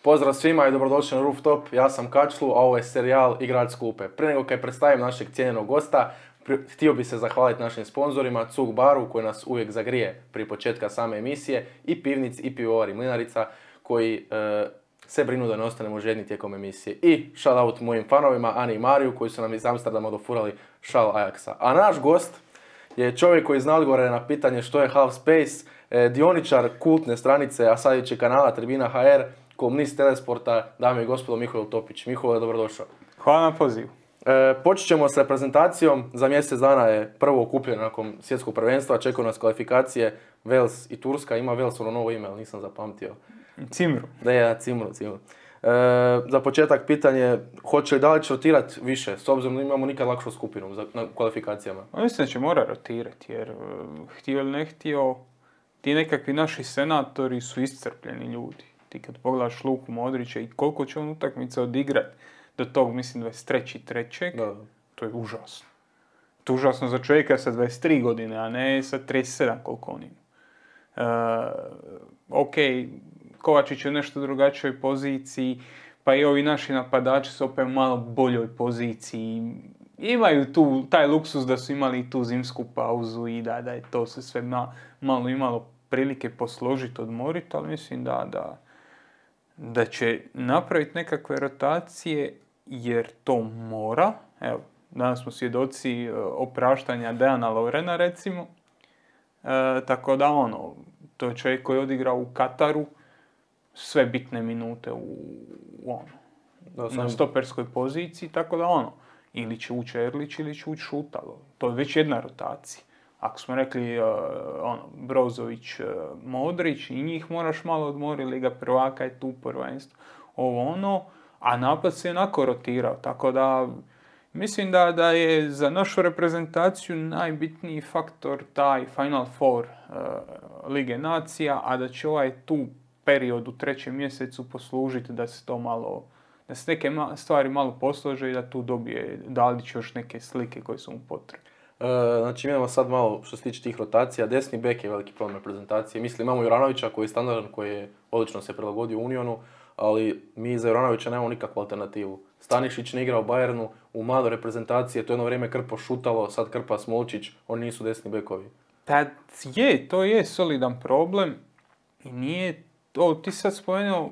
Pozdrav svima i dobrodošli na Rooftop, ja sam Kačlu, a ovo je serijal Igrač s klupe. Prije nego kaj predstavim našeg cijenjenog gosta, htio bi se zahvaliti našim sponzorima, Cug baru koji nas uvijek zagrije prije početka same emisije, i Pivnic i Pivovar i Mlinarica koji se brinu da ne ostanemo žedni tijekom emisije. I shout out mojim fanovima Ani i Mariju koji su nam iz Amsterdama dofurali šal Ajaxa. A naš gost je čovjek koji zna odgovore na pitanje što je Half Space, dioničar kultne stranice, a sad će kanala Tribina HR, kolumnist Telesporta, dame i gospodo, Mihovil Topić. Mihovil, dobrodošao. Hvala na pozivu. Počet ćemo s reprezentacijom. Za mjesec dana je prvo okupljeno nakon svjetskog prvenstva. Čekaju nas kvalifikacije Wales i Turska. Ima Wales ono novo ime, ali nisam zapamtio. Cimru. Da je, Cimru. Za početak pitanje, da li će rotirati više, s obzirom da imamo nikad lakšu skupinu na kvalifikacijama? Mislim da će mora rotirati, jer htio ili ne htio, ti nekakvi naši senatori su iscrpljeni ljudi. Ti kad pogledaš Luku Modrića i koliko će on utakmice odigrati do tog, mislim, 23.3. To je užasno. To je užasno za čovjeka sa 23 godine, a ne sa 37 koliko on ima. Ok, Kovačić je u nešto drugačijoj poziciji, pa i ovi naši napadači su opet u malo boljoj poziciji. Imaju tu taj luksus da su imali tu zimsku pauzu i da je to se sve malo imalo prilike posložiti, odmoriti, ali mislim da će napraviti nekakve rotacije jer to mora. Evo, danas smo svjedoci opraštanja Dejana Lovrena, recimo. Tako da to je čovjek koji je odigrao u Kataru sve bitne minute na stoperskoj poziciji, tako da ili će ući Erlić ili će ući Šutalo. To je već jedna rotacija. Ako smo rekli Brozović, Modrić, i njih moraš malo odmoriti, Liga prvaka je tu prvenstvo. A napad se onako rotirao, tako da mislim da je za našu reprezentaciju najbitniji faktor taj Final Four Lige nacija, a da će tu period u 3. mjesecu poslužiti da se to malo, da se neke stvari malo poslože i da tu dobije Dalić još neke slike koje su mu potrebne. Znači imamo sad malo što se tiče tih rotacija, desni bek je veliki problem reprezentacije. Mislim, imamo Juranovića koji je standardan, koji je odlično se prilagodio Unionu, ali mi za Juranovića nemamo nikakvu alternativu. Stanišić ne igra u Bayernu, u mladoj reprezentacije, to je jedno vrijeme krpo Šutalo, sad krpa Smolčić, oni nisu desni bekovi. Pa to je solidan problem i nije to, ti sad spomenuo,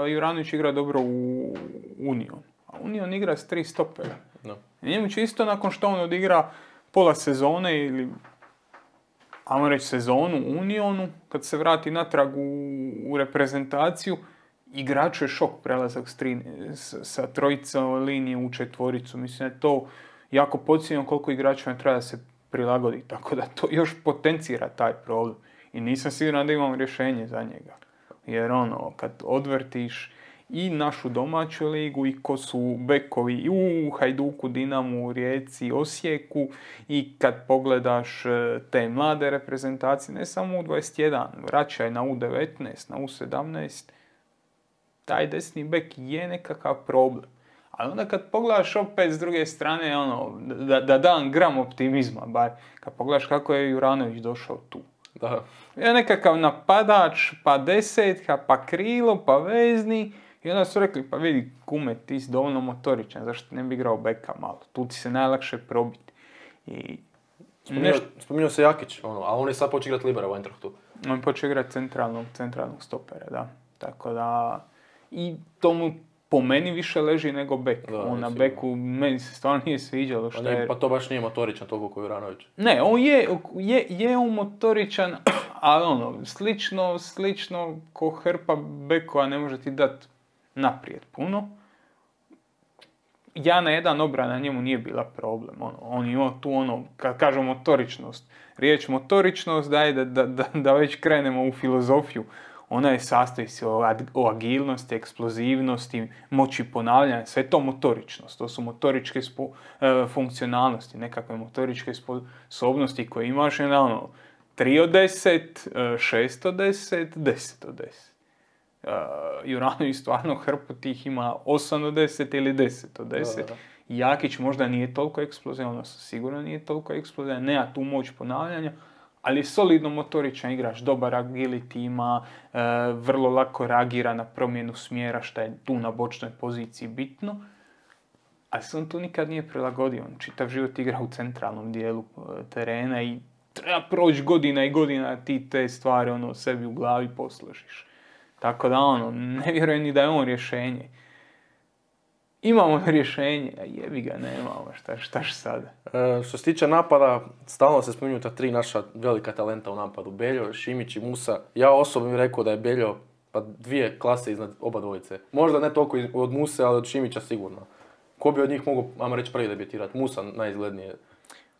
Juranović igra dobro u Union, a Union igra s 3 stopera. No. Njemu će isto nakon što on odigra pola sezone ili, ajmo reći, sezonu u Unionu, kad se vrati natrag u reprezentaciju, igraču je šok prelazak sa trojice linije u četvoricu. Mislim da je to jako podcijenjeno koliko igračima treba da se prilagodi, tako da to još potencira taj problem. I nisam siguran da imam rješenje za njega. Jer kad odvrtiš i našu domaću ligu i ko su bekovi i u Hajduku, Dinamu, Rijeci, Osijeku, i kad pogledaš te mlade reprezentacije, ne samo u 21, vraćaj na U19, na U17, taj desni bek je nekakav problem. Ali onda kad pogledaš opet s druge strane, da dam gram optimizma, bar kad pogledaš kako je Juranović došao tu. Da. Je nekakav napadač, pa desetka, pa krilo, pa vezni. I onda su rekli, pa vidi kume, ti si dovoljno motoričan, zašto ne bi igrao beka malo? Tu ti se najlakše probiti. Spominjao se Jakić, a on je sad počeo igrati libera u Eintrachtu. On je počeo igrati centralnog stopera, da. Tako da, i to mu po meni više leži nego bek. On na beku, meni se stvarno nije sviđalo. Pa to baš nije motoričan toliko kao Juranović. Ne, on je on motoričan, ali slično ko hrpa bekova ne može ti dati naprijed puno. Ja na jedan obrana njemu nije bila problem. On ima tu kad kažemo motoričnost. Riječ motoričnost daje da već krenemo u filozofiju. Ona je sastoji se o agilnosti, eksplozivnosti, moći ponavljanja. Sve to motoričnost. To su motoričke funkcionalnosti, nekakve motoričke sposobnosti koje imaš. 3 od 10, 6 od 10, 10 od 10. Juranović stvarno hrpu tih ima 8 od 10 ili 10 od 10. Da. Jakić možda nije toliko eksplozivan, sigurno nije toliko eksplozivan, nema tu moć ponavljanja, ali je solidno motoričan igrač, dobar agility ima, vrlo lako reagira na promjenu smjera, što je tu na bočnoj poziciji bitno. Ali se on tu nikad nije prilagodio, on čitav život igra u centralnom dijelu terena i treba proći godina i godina ti te stvari sebi u glavi posložiš. Tako da ne vjerujem ni da je on rješenje. Imamo rješenje, a jebi ga nemamo, štaš sada. Što se tiče napada, stalno se spominju ta 3 naša velika talenta u napadu. Beljo, Šimić i Musa. Ja osobno bih rekao da je Beljo pa 2 klase iznad oba dvojice. Možda ne toliko od Muse, ali od Šimića sigurno. Ko bi od njih mogu, ajmo reći, prvi debitirati? Musa najizglednije.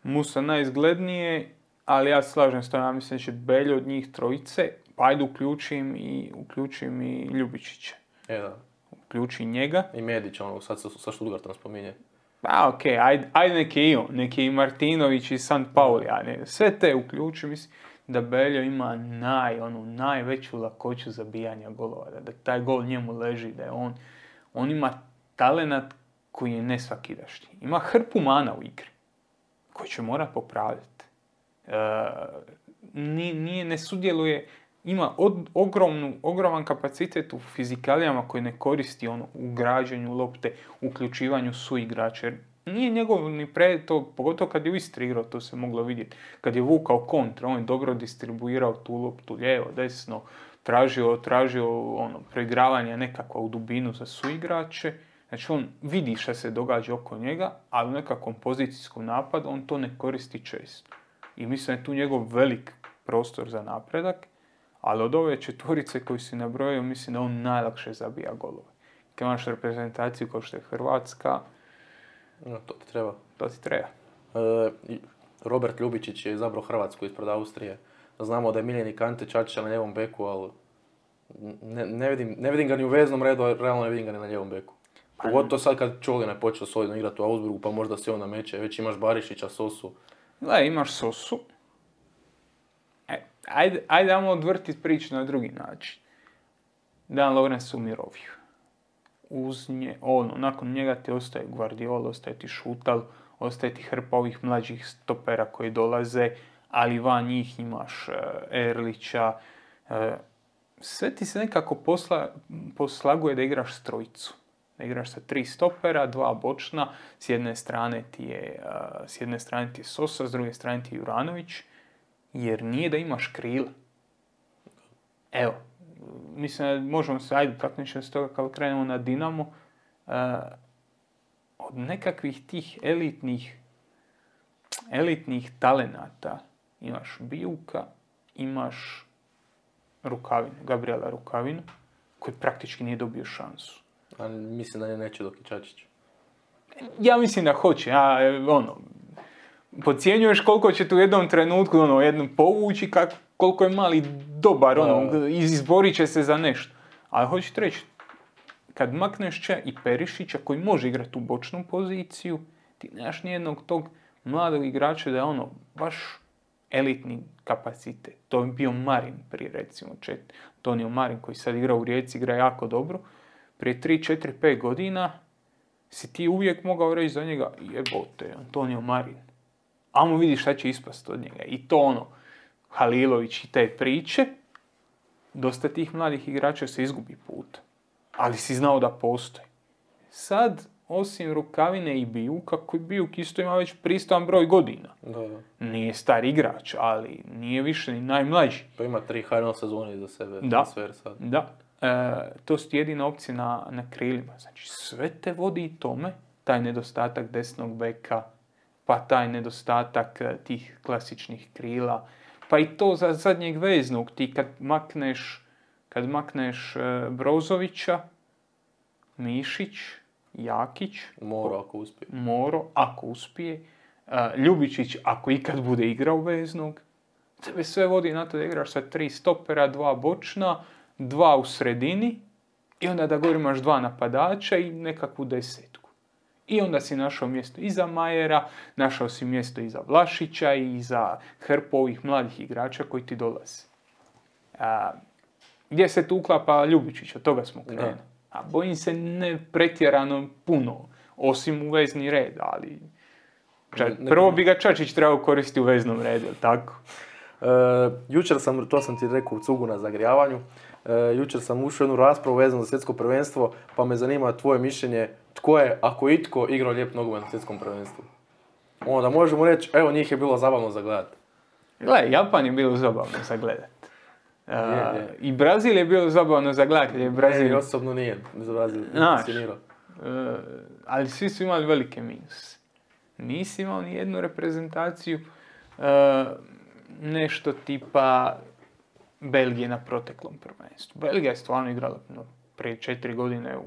Musa najizglednije, ali ja se slažem s tom, ja mislim da će Beljo od njih trojice, pa ajde uključim i Ljubičića. Da. Uključi njega. I Medić, sad sa Stuttgartom spominje. Pa okej, ajde neki i Martinović i Sant Pauli, sve te uključi, mislim da Beljo ima najveću lakoću zabijanja golova, da taj gol njemu leži, da je on ima talenat koji je nesvakidašnji. Ima hrpu mana u igri, koji će morat popravljati. Ne sudjeluje, ima ogroman kapacitet u fizikalijama koji ne koristi u građenju lopte, uključivanju suigrača. Nije njegov ni to, pogotovo kad je u Istri igrao, to se moglo vidjeti. Kad je vukao kontra, on je dobro distribuirao tu loptu lijevo, desno, tražio preigravanje nekakva u dubinu za suigrače. Znači on vidi šta se događa oko njega, ali u nekakvom pozicijskom napadu on to ne koristi često. I mislim da je tu njegov velik prostor za napredak, ali od ove 4 koji si nabrojio, mislim da on najlakše zabija golove. Kad imaš reprezentaciju kao što je Hrvatska, to ti treba. To ti treba. Robert Ljubičić je izabrao Hrvatsku ispred Austrije. Znamo da je miljenik Ante Čačića na ljevom beku, ali ne vidim ga ni u veznom redu, a realno ne vidim ga ni na ljevom beku. Pogotovo sad kad Čolina je počeo solidno igrati u Augsburgu, pa možda se on nameće. Već imaš Barišića, Sosu. Imaš Sosu. Ajde ajmo odvrtiti priču na drugi način. Dan Lorenz u miroviju. Nakon njega ti ostaje Guardiola, ostaje ti Šutal, ostaje ti hrpa ovih mlađih stopera koji dolaze, ali van njih imaš Erlića. Sve ti se nekako poslaguje da igraš s trojicu. Da igraš sa 3 stopera, 2 bočna, s jedne strane ti je Sosa, s druge strane ti je Juranović, jer nije da imaš krila. Evo, mislim da možemo se, takmičiti s toga kao krenemo na Dinamo, od nekakvih tih elitnih talenata imaš Bijuka, imaš Gabriela Rukavinu, koji praktički nije dobio šansu. A mislim da neće dok i Čačić. Ja mislim da hoće. Podcjenjuješ koliko će tu u jednom trenutku jednom povući, koliko je mali dobar, izborit će se za nešto. Ali hoću ti reći, kad makneš i Perišića koji može igrati u bočnu poziciju, ti nemaš nijednog tog mladog igrača da je baš elitni kapacitet. To je bio Marin prije recimo Antonio Marin koji sad igra u Rijeci, igra jako dobro. Prije 3, 4, 5 godina si ti uvijek mogao reći za njega jebote, Antonio Marin. Amo vidi šta će ispast od njega. I to Halilović i te priče, dosta tih mladih igrača se izgubi put. Ali si znao da postoji. Sad, osim Rukavine i Bijuka, koji Bijuk isto ima već pristojan broj godina. Da. Nije star igrač, ali nije više ni najmlađi. Pa ima 3 final sezone iza sebe. Da. To su jedina opcija na krilima. Znači, sve te vodi tome, taj nedostatak desnog beka, pa taj nedostatak tih klasičnih krila, pa i to za zadnjeg veznog. Ti kad makneš Brozovića, Mišić, Jakić, Moro ako uspije, Ljubičić ako ikad bude igrao veznog, tebe sve vodi na to da igraš sa 3 stopera, 2 bočna, 2 u sredini i onda da gore imaš 2 napadača i nekakvu desetku. I onda si našao mjesto iza Majera, našao si mjesto iza Vlašića i iza hrpu ovih mladih igrača koji ti dolaze. Gdje se tu uklapa Ljubičić, od toga smo krenuli. A bojim se ne pretjerano puno, osim u vezni red, ali prvo bi ga Čačić trebao koristiti u veznom redu, tako? Jučer sam, to sam ti rekao u cugu na zagrijavanju, jučer sam ušao u jednu raspravu vezanu za svjetsko prvenstvo, pa me zanima tvoje mišljenje, tko je, ako itko, igrao lijep nogomet na svjetskom prvenstvu? Onda možemo reći, evo njih je bilo zabavno za gledat. Gle, Japan je bilo zabavno za gledat. I Brazil je bilo zabavno za gledat. Brazil osobno nije za Brazil fascinirao. Ali svi su imali velike minuse. Nisi imao ni jednu reprezentaciju nešto tipa Belgije na proteklom prvenstvu. Belgija je stvarno igrala prije 4 godine,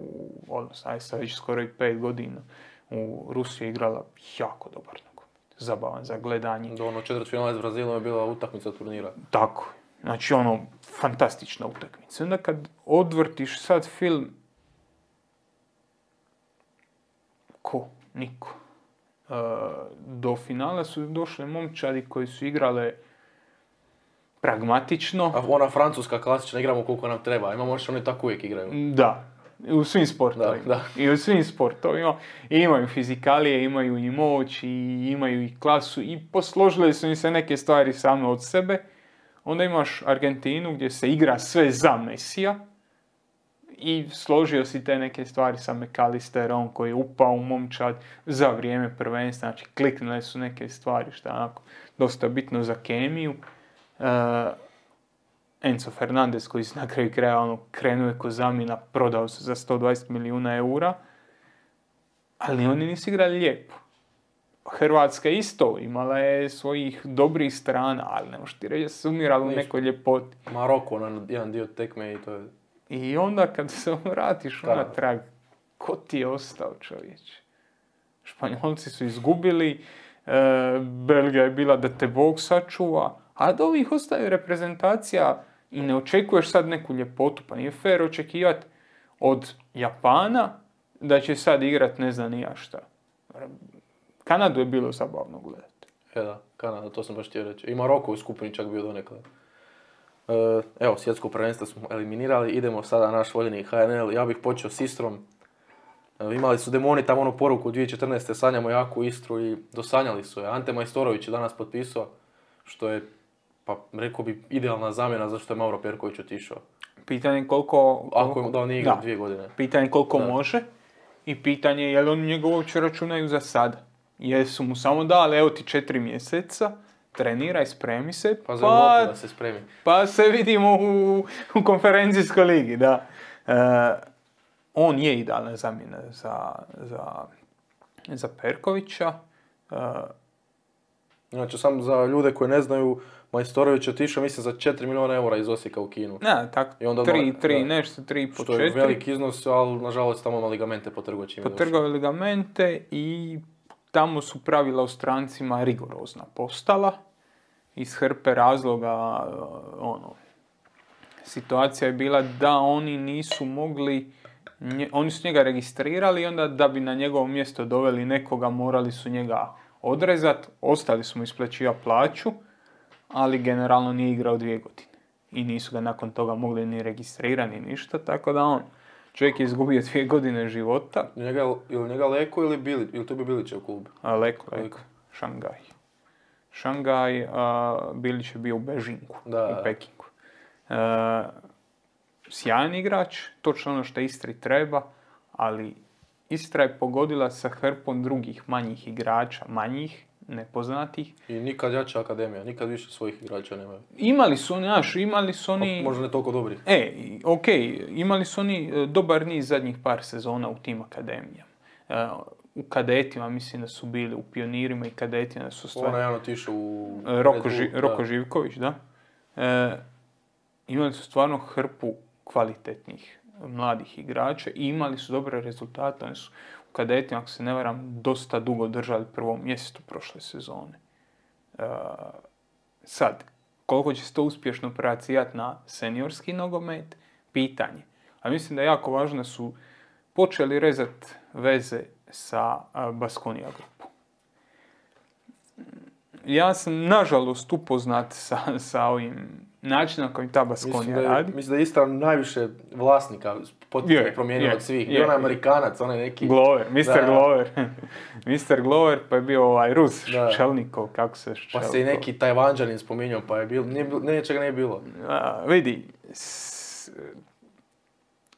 sad već skoro i 5 godina, u Rusiji je igrala jako dobar nogomet. Zabavan za gledanje. Ono četvrtfinale s Brazilom je bila utakmica turnira. Tako. Znači fantastična utakmica. Onda kad odvrtiš sad film, niko. Do finala su došle momčadi koji su igrale pragmatično. A ona francuska klasična, igramo koliko nam treba. Imamo još oni tako uvijek igraju. Da. U svim sportovima. Da. I u svim sportovima. Imaju fizikalije, imaju i moć, i imaju i klasu. I posložile su im se neke stvari same od sebe. Onda imaš Argentinu gdje se igra sve za Mesija. I složio si te neke stvari sa McAllisterom koji je upao u momčad za vrijeme prvenstva. Znači, kliknule su neke stvari što je onako dosta bitno za kemiju. Enzo Fernandez koji se na kraju kraja krenuo je ko zamjena, prodao se za 120 milijuna eura. Ali oni nisu igrali lijepo. Hrvatska isto imala je svojih dobrih strana, ali ne možeš ti reći da se umirala u nekoj ljepoti. Maroko na jedan dio tekme i to je... I onda kad se vratiš unatrag, ko ti je ostao, čovječe? Španjolci su izgubili, Belgija je bila da te Bog sačuva, a od ovih ostaju reprezentacija i ne očekuješ sad neku ljepotu, pa nije fair očekivati od Japana da će sad igrat ne znam ni ja šta. Kanadu je bilo zabavno gledati. Da, Kanada, to sam baš htio reći. I Maroko u skupini čak bio donekle. Evo, svjetsko prvenstvo smo eliminirali, idemo sada na naš voljeni HNL. Ja bih počeo s Istrom. Imali su demoni tamo onu poruku 2014. sanjamo jaku Istru i dosanjali su je. Ante Majstorović je danas potpisao, što je, pa rekao bi, idealna zamjena zašto je Mauro Perković otišao. Pitanje koliko... Ako da on nije igrao 2 godine. Pitanje koliko može i pitanje je li oni njega uopće računaju za sada. Jer su mu samo dali, evo ti 4 mjeseca, treniraj, spremi se, pa da se spremi. Pa se vidimo u konferencijskoj ligi, da. On je idealna zamjena za Perkovića. Znači, samo za ljude koji ne znaju, Majstorović je otišao, mislim, za 4 milijuna eura iz Osijeka u Kinu. Ne, tako, 3,4. Što je veliki iznos, ali nažalost tamo ima ligamente po trgovačima. Potrgao ligamente i tamo su pravila o strancima rigorozna postala. Iz hrpe razloga, situacija je bila da oni nisu mogli, oni su njega registrirali i onda da bi na njegovo mjesto doveli nekoga, morali su njega odrezati, ostali su mu isplaćivati plaću, ali generalno nije igrao 2 godine. I nisu ga nakon toga mogli ni registrirati, ni ništa, tako da čovjek je izgubio 2 godine života. Ili njega Leko ili to bi Bilićev klub? Leko. Šangaj, Bilić je bio u Bežinku, u Pekingu. Sjajan igrač, točno ono što Istri treba, ali Istra je pogodila sa hrpom drugih manjih igrača, nepoznatih. I nikad jača akademija, nikad više svojih igrača nemaju. Imali su oni... Možda ne toliko dobri. Imali su oni dobar niz zadnjih par sezona u tim akademijama. U kadetima mislim da su bili, u pionirima i kadetima da su stvari... Ona je ono tišao u... Roko Živković, da. Imali su stvarno hrpu kvalitetnih mladih igrača i imali su dobre rezultate. Oni su u kadetima, ako se ne varam, dosta dugo držali prvo mjesto prošle sezone. Sad, koliko će se to uspješno prebacijati na seniorski nogomet, pitanje. A mislim da je jako važno da su počeli rezati veze sa Baskonia grupom. Ja sam nažalost upoznat sa ovim način na koji ta Baskonija radi. Mislim da je Istra najviše vlasnika potpuno promijenio od svih. Bio onaj Amerikanac, onaj neki... Glover, Mr. Glover. Mr. Glover, pa je bio Rus, Šelnikov, kako se Pa se i neki Tajvanđanin spominjao, pa je bilo, nečega nije bilo. Vidi,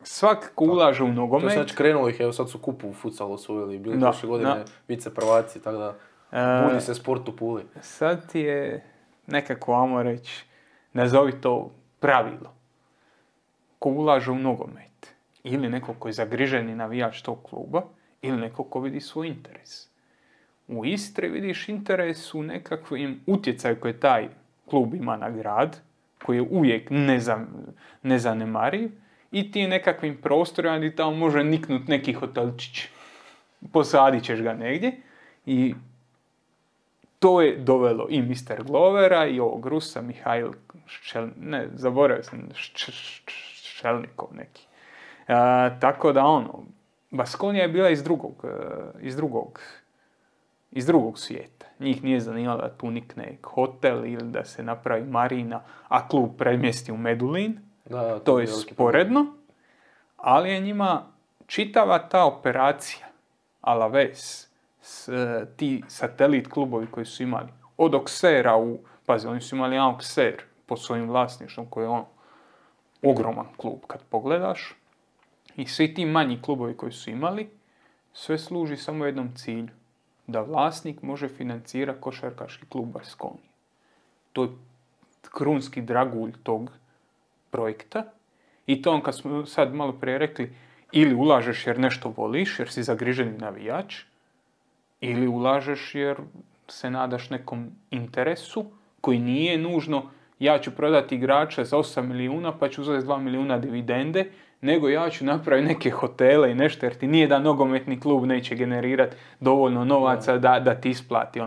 svak ko ulaže u nogomet... To je znači krenulo ih, evo sad su kupu u futsalu osvojili, bili prošle godine vice prvaci, tako da budi se sport u Puli. Sad ti je nekako, ajmo reći, nazovi to pravilo. Ko ulaže u nogomet, ili neko koji je zagriženi navijač tog kluba, ili neko ko vidi svoj interes. U Istri vidiš interes u nekakvim utjecaju koje taj klub ima na grad, koji je uvijek nezanemariv, i ti nekakvim prostorima gdje tamo može niknut neki hotelčić. Posadit ćeš ga negdje i to je dovelo i Mr. Glovera i ovog Rusa, Mihail zaboravio sam, Šelnikov neki. Tako da Baskonija je bila iz drugog svijeta. Njih nije zanimalo da tu nikne hotel ili da se napravi marina, a klub premjesti u Medulin. To je sporedno, ali je njima čitava ta operacija, Alaves, ti satelit klubovi koji su imali, od Auxerra pazi, oni su imali jedan Auxerre pod svojim vlasništvom, koji je ogroman klub kad pogledaš, i svi ti manji klubovi koji su imali, sve služi samo jednom cilju, da vlasnik može financirati košarkaški klub Baskonije. To je krunski dragulj tog projekta, i to kad smo sad malo prije rekli, ili ulažeš jer nešto voliš, jer si zagriženi navijač, ili ulažeš jer se nadaš nekom interesu koji nije nužno ja ću prodati igrača za 8 milijuna pa ću uzeti 2 milijuna dividende, nego ja ću napraviti neke hotele i nešto, jer ti nije da nogometni klub neće generirati dovoljno novaca da ti isplati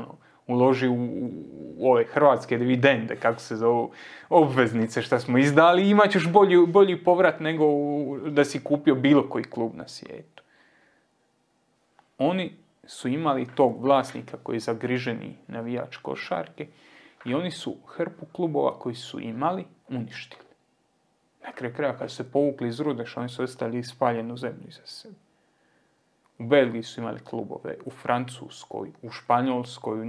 uloži u ove hrvatske dividende, kako se zovu, obveznice što smo izdali, i imat ćeš bolji povrat nego da si kupio bilo koji klub na svijetu. Oni su imali tog vlasnika koji je zagriženi navijač košarke i oni su hrpu klubova koji su imali uništili. Na kraju kraja kad su se povukli iz Rudeš, oni su ostali spaljenu zemlju iza sebe. U Belgiji su imali klubove, u Francuskoj, u Španjolskoj, u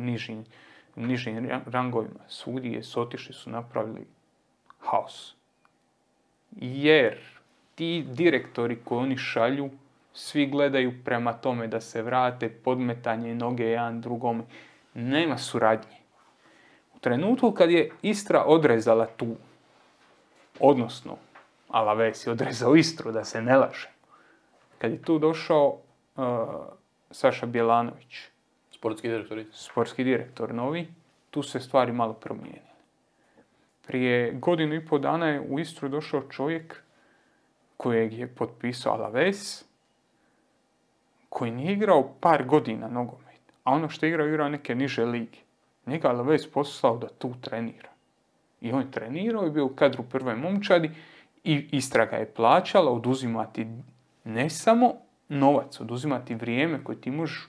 nižim rangovima. Svugdje je otišli su napravili haos. Jer ti direktori koji oni šalju, svi gledaju prema tome da se vrate, podmetanje noge jedan drugome. Nema suradnje. U trenutku kad je Istra odrezala tu, odnosno Alaves je odrezao Istru, da se ne laže, kad je tu došao Saša Bjelanović, sportski direktor novi, tu se stvari malo promijenile. Prije 1.5 godina je u Istru došao čovjek kojeg je potpisao Alaves, koji nije igrao par godina nogomet, a ono što je igrao neke niže lige. Njega Alaves poslao da tu trenira. I on je trenirao i bio u kadru prve momčadi i Istra ga je plaćala oduzimati ne samo novac, oduzimati vrijeme koje ti možeš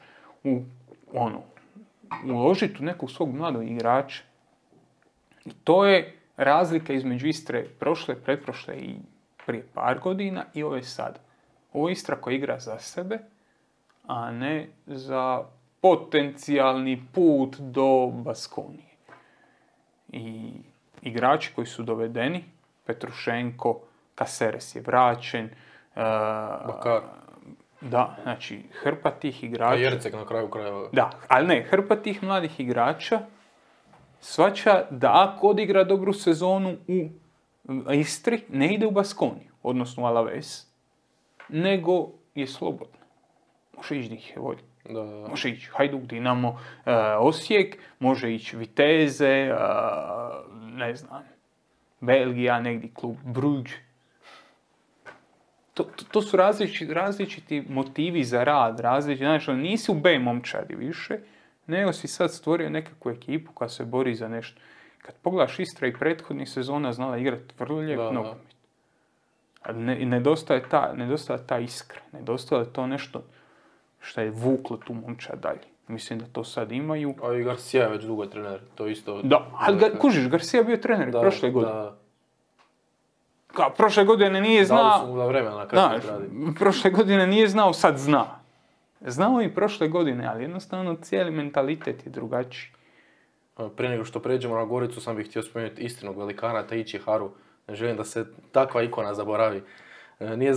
uložiti u nekog svog mladog igrača. I to je razlika između Istre prošle, pretprošle i prije par godina i ove sad. Ovo je Istra koja igra za sebe, a ne za potencijalni put do Baskonije. I igrači koji su dovedeni, Petrušenko, Caceres je vraćen, Bakar. Da, znači, hrpa tih igrača... A Jercek na kraju krajeva. Da, ali ne, hrpa tih mladih igrača shvaća da ako odigra dobru sezonu u Istri, ne ide u Baskoniju, odnosno u Alaves, nego je slobodno. Može ići gdje ih je volja. Da. Može ići Hajduk, Dinamo, Osijek, može ići Viteze, ne znam, Belgija, negdje klub Bruges. To su različiti motivi za rad, znači nisi u B momčadi više, nego si sad stvorio nekakvu ekipu koja se bori za nešto. Kad pogledaš, Istra i prethodnih sezona znala igrati vrlo lijep nogomet. Nedostaje ta iskra, nedostaje to nešto što je vuklo tu momčad dalje. Mislim da to sad imaju. A i Garcia je već dugo trener, to isto... Da, ali kužiš, Garcia bio trener prošle godine. Prošle godine nije znao... Dali su mu da vremena kako radi. Prošle godine nije znao, sad zna. Znao i prošle godine, ali jednostavno cijeli mentalitet je drugačiji. Prije nego što pređemo na Goricu, sam bih htio spomenuti istinog velikana Taichi Haru. Ne želim da se takva ikona zaboravi. Nije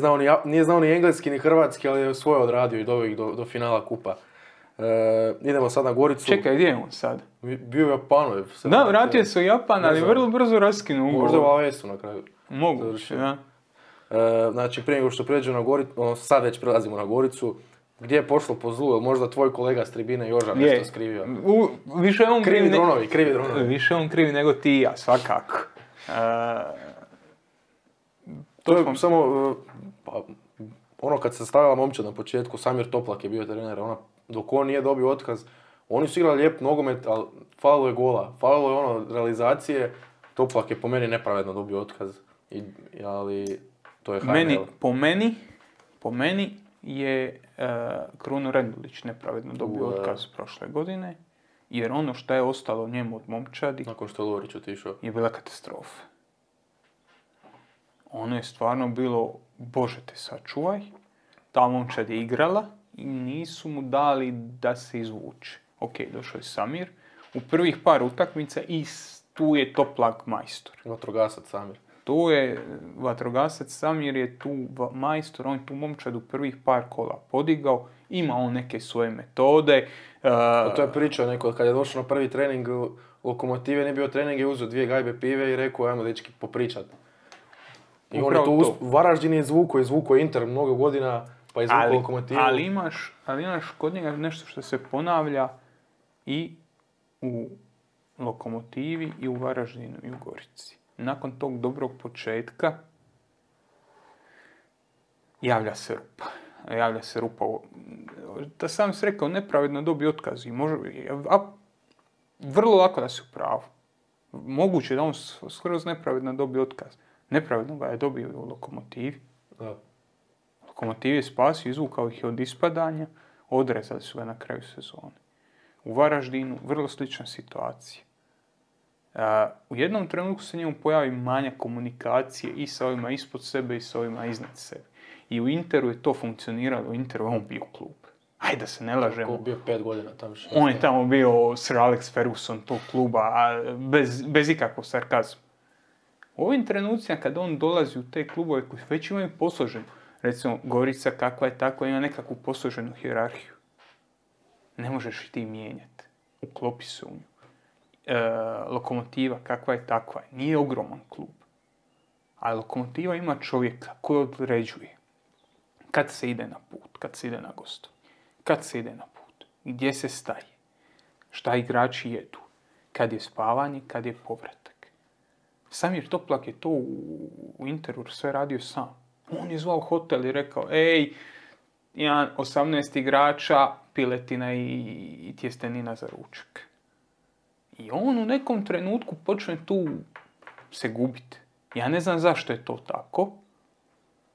znao ni engleski ni hrvatski, ali je svoje odradio i doveo ih do finala kupa. Idemo sad na Goricu. Čekaj, gdje je on sad? Bio je u Japanu. Da, vratio se u Japan, ali vrlo brzo raskinuo ugovor. Možda u AS-u na kraju. Moguće, da. Znači, prije nego što pređemo na Goricu, sad već prelazimo na Goricu. Gdje je pošlo po zlu? Je možda tvoj kolega s tribine Joža nešto skrivio? Više on krivi dronovi. Više on krivi nego ti i ja, svakako. To je samo, ono kad se stavila momčad na početku, Samir Toplak je bio trener, dok on nije dobio otkaz, oni su igrali lijep nogomet, ali falilo je gola, falilo je realizacije, Toplak je po meni nepravedno dobio otkaz, ali to je HNL. Po meni je Kruno Rendulić nepravedno dobio otkaz prošle godine, jer ono što je ostalo njemu od momčadi, nakon što je Lovrić otišao, je bila katastrofa. Ono je stvarno bilo, Bože te sačuvaj, ta momčad je igrala i nisu mu dali da se izvuče. Ok, došao je Samir, u prvih par utakmica i tu je Toplak majstor. Vatrogasac Samir. Tu je vatrogasac Samir je tu majstor, on je tu momčad u prvih par kola podigao, ima on neke svoje metode. To je pričao neko, kad je došao na prvi trening Lokomotive, nije bio trening, je uzeo 2 gajbe pive i rekao, ajmo dečki popričat. I on je tu Varaždin je izvukao Inter mnogo godina, pa je izvukao Lokomotivu. Ali imaš kod njega nešto što se ponavlja i u Lokomotivi, i u Varaždinu, i u Gorici. Nakon tog dobrog početka javlja se rupa. Da sam si rekao, nepravedno dobio otkaz i vrlo lako da si u pravu. Moguće da on skroz nepravedno dobio otkaz. Nepravedno ga je dobio u Lokomotivi. Da. Lokomotiv je spasio, izvukao ih od ispadanja, odrezali su ga na kraju sezone. U Varaždinu vrlo slična situacija. U jednom trenutku se njemu pojavi manjak komunikacije i sa ovima ispod sebe i sa ovima iznad sebe. I u Interu je to funkcioniralo, u Interu je on bio klub. Ajde da se ne lažemo. On bio 5 godina tamo. On je tamo bio Sir Alex Ferguson tog kluba, bez ikakvog sarkazma. U ovim trenucima kad on dolazi u te klubove koji već imaju posloženu, recimo Gorica kakva je takva, ima nekakvu posloženu hijerarhiju. Ne možeš i ti mijenjati. Uklopi se u nju. Lokomotiva kakva je takva, nije ogroman klub. Ali Lokomotiva ima čovjeka koji određuje kad se ide na put, kad se ide na gostovanje, kad se ide na put, gdje se staje, šta igrači jedu, kad je spavanje, kad je povratak. Samir Toplak je to u Interu sve radio sam. On je zvao hotel i rekao, 18 igrača, piletina i tjestenina za ručak. I on u nekom trenutku počne tu se gubiti. Ja ne znam zašto je to tako,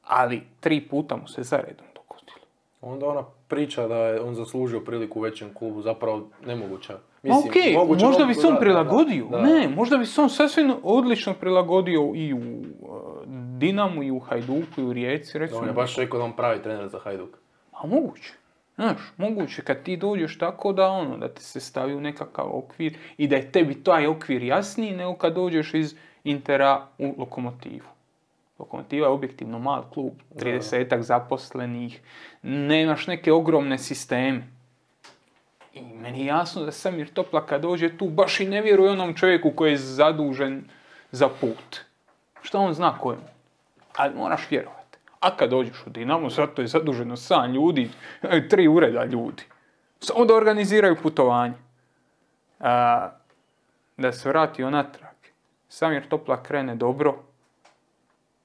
ali 3 puta mu se zaredom dogodilo. Onda ona priča da je on zaslužio priliku u većem klubu, zapravo nemoguća. Možda bi se on prilagodio. Ne, možda bi se on sasvim odlično prilagodio i u Dinamu, i u Hajduku, i u Rijeci. Recimo. On je baš rekao da on pravi trener za Hajduk. A moguće. Znaš, moguće kad ti dođeš tako da te se stavi u nekakav okvir i da je tebi taj okvir jasniji nego kad dođeš iz Intera u Lokomotivu. Lokomotiva je objektivno mal klub, 30-ak zaposlenih, nemaš neke ogromne sisteme. I meni je jasno da Samir Toplak kad dođe tu baš i ne vjeruje onom čovjeku koji je zadužen za put. Što on zna ko je on? Ali moraš vjerovati. A kad dođeš u Dinamo, zato je zaduženo 7 ljudi, 3 ureda ljudi. Samo da organiziraju putovanje. Da se vrati natrag. Samir Toplak krene dobro.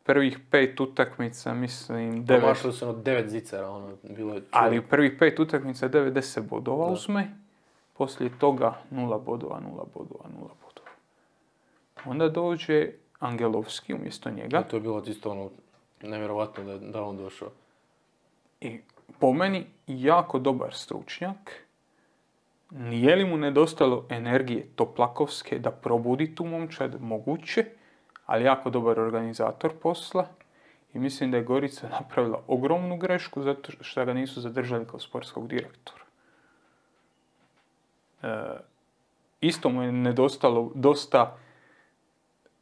Prvih 5 utakmica, mislim, 9. Pomašali su 9 zicera, bilo je čudo. Ali u prvih 5 utakmica 90 bodova uzme. Poslije toga 0 bodova. Onda dođe Angelovski umjesto njega. To je bilo isto nevjerovatno da on došao. I po meni jako dobar stručnjak. Nije li mu nedostalo energije toplakovske da probudi tu momčad? Moguće. ali jako dobar organizator posla i mislim da je Gorica napravila ogromnu grešku zato što ga nisu zadržali kao sportskog direktora. Isto mu je nedostalo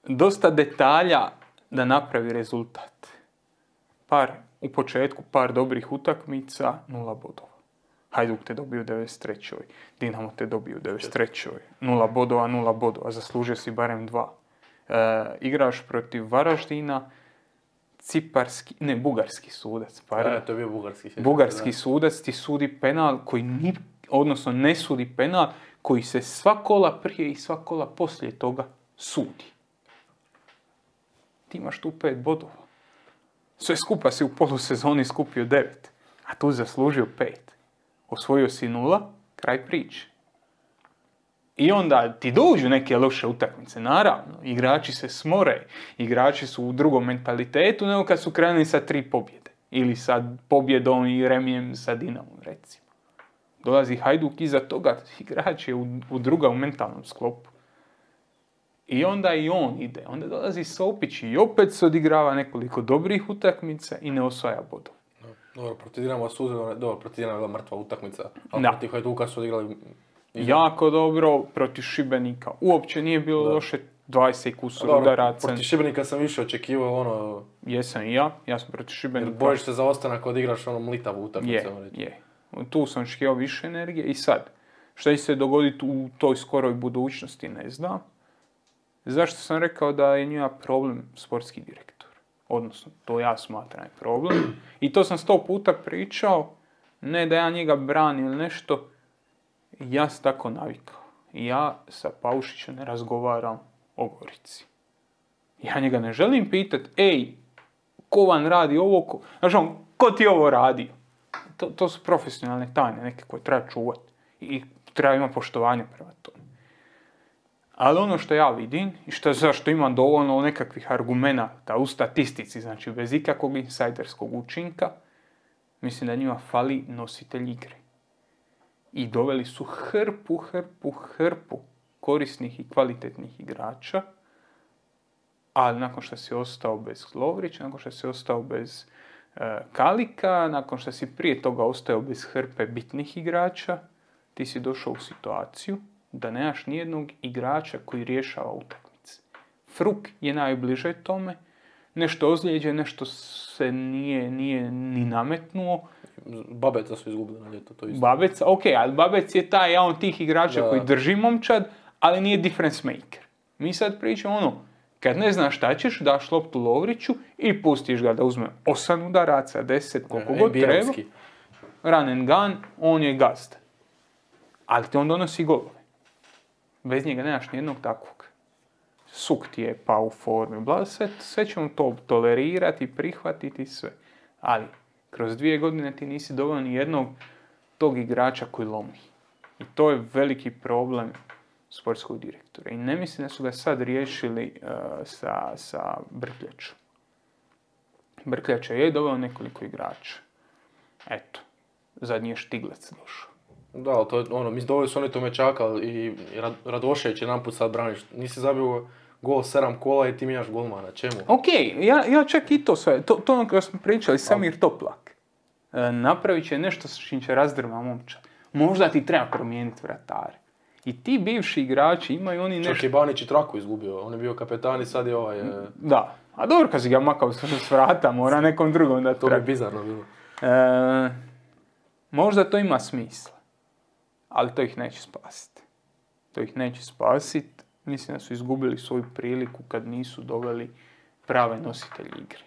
dosta detalja da napravi rezultat. U početku par dobrih utakmica, 0 bodova. Hajduk te dobio u 93. Dinamo te dobio u 93. 0 bodova, zaslužio si barem 2. Igraš protiv Varaždina, bugarski sudac. To je bio bugarski sudac ti sudi penal koji odnosno ne sudi penal koji se sva kola prije i sva kola poslije toga sudi. Ti imaš tu 5 bodova. Sve skupa si u polusezoni skupio 9, a tu zaslužio 5. Osvojio si 0, kraj priče. I onda ti dođu neke loše utakmice, naravno. Igrači se smore, igrači su u drugom mentalitetu nego kad su krenuli sa 3 pobjede. Ili sa pobjedom i remijem sa Dinamom, recimo. Dolazi Hajduk iza toga, igrač je u drugom mentalnom sklopu. I onda i on ide. Onda dolazi Sopić i opet se odigrava nekoliko dobrih utakmica i ne osvaja bodov. Dobro, protiv Dinama protiv Dinama je bila mrtva utakmica. Ali protiv Hajduka su odigrali... Jako dobro, protiv Šibenika. Uopće nije bilo loše 20 kusur udaraca. Protiv Šibenika sam više očekivao Jesam i ja sam protiv Šibenika. Jer bojiš se za ostanak kad igraš mlitavu utakmicu. Je. Tu sam očekivao više energije i sad. Šta će se dogoditi u toj skoroj budućnosti, ne znam. Zašto sam rekao da je njima problem sportski direktor? Odnosno, to ja smatram je problem. I to sam 100 puta pričao, ne da ja njega branim ili nešto, ja sam tako navikao. Ja sa Paušićem ne razgovaram o Gorici. Ja njega ne želim pitati, ko vam radi ovo? Znači, ko ti ovo radio? To su profesionalne tajne neke koje treba čuvati. I treba imati poštovanje prema tome. Ali ono što ja vidim i zašto imam dovoljno nekakvih argumenata u statistici, znači bez ikakvog insajderskog učinka, mislim da njima fali nositelj igre. I doveli su hrpu korisnih i kvalitetnih igrača, ali nakon što si ostao bez Lovrića, nakon što si ostao bez Kalika, nakon što si prije toga ostao bez hrpe bitnih igrača, ti si došao u situaciju da nemaš nijednog igrača koji rješava utakmice. Fruk je najbliže tome, nešto ozlijeđe, nešto se nije ni nametnuo. Babeca su izgubili na ljeto, to isto. Babeca, ali Babec je taj jedan od tih igrača koji drži momčad, ali nije difference maker. Mi sad pričamo kad ne znaš šta ćeš, daš loptu Lovriću i pustiš ga da uzme 8 udaraca, 10, koliko god treba. Run and gun, on je gazda. Ali ti on donosi golove. Bez njega nemaš nijednog takvog. Suk ti je pa u formi, sve ćemo to tolerirati, prihvatiti sve. Ali kroz 2 godine ti nisi doveo ni jednog tog igrača koji lomi. I to je veliki problem sportskog direktora. I ne mislim da su ga sad riješili sa Brkljačom. Brkljača je doveo nekoliko igrača. Eto, zadnji je Štiglec došao. Da, ali to je mislim doveli su oni Tomečaka i Radošević je namput sad braniš. Nisi zabio gol 7 kola i ti mijenjaš golmana. Čemu? Ja čak i to sve. To ono kada smo pričali, Samir Toplak. Napravit će nešto s čim će razdrma momča. Možda ti treba promijeniti vratare. I ti bivši igrači imaju oni nešto... Čak i Banić i Traku izgubio. On je bio kapetan i sad je ovaj... Da. A dobro kad si ga makao s vrata, mora nekom drugom da to bi bizarno bilo. Možda to ima smisla. Ali to ih neće spasiti. Mislim da su izgubili svoju priliku kad nisu doveli prave nositelje igre.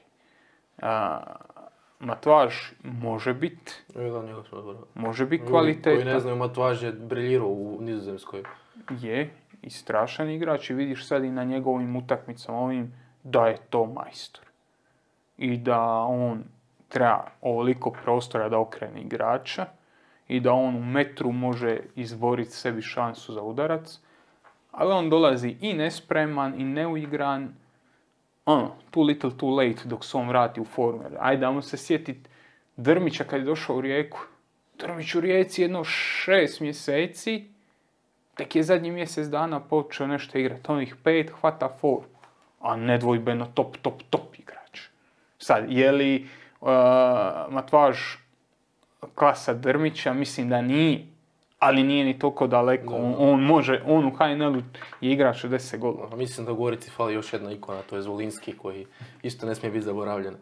Matvaž može biti. Može biti kvalitetan. Koji ne znaju, Matvaž je briljirao u Nizozemskoj. Je, i strašan igrač i vidiš sad i na njegovim utakmicama ovim da je to majstor. I da on treba ovoliko prostora da okrene igrača i da on u metru može izboriti sebi šansu za udarac. Ali on dolazi i nespreman i neuigran. Too little too late dok se on vrati u formu. Ajde, ajmo se sjetiti Drmića kad je došao u Rijeku. Drmić u Rijeci 6 mjeseci, tek je zadnji mjesec dana počeo nešto igrati. Onih 5 hvata formu. a nedvojbeno top igrač. Sad, je li Matvaž klasa Drmića? Mislim da nije, ali nije ni toliko daleko. On u HNL-u je igrač 10 golova. Mislim da u Gorici fali još jedna ikona, to je Zvolinski koji isto ne smije biti zaboravljen.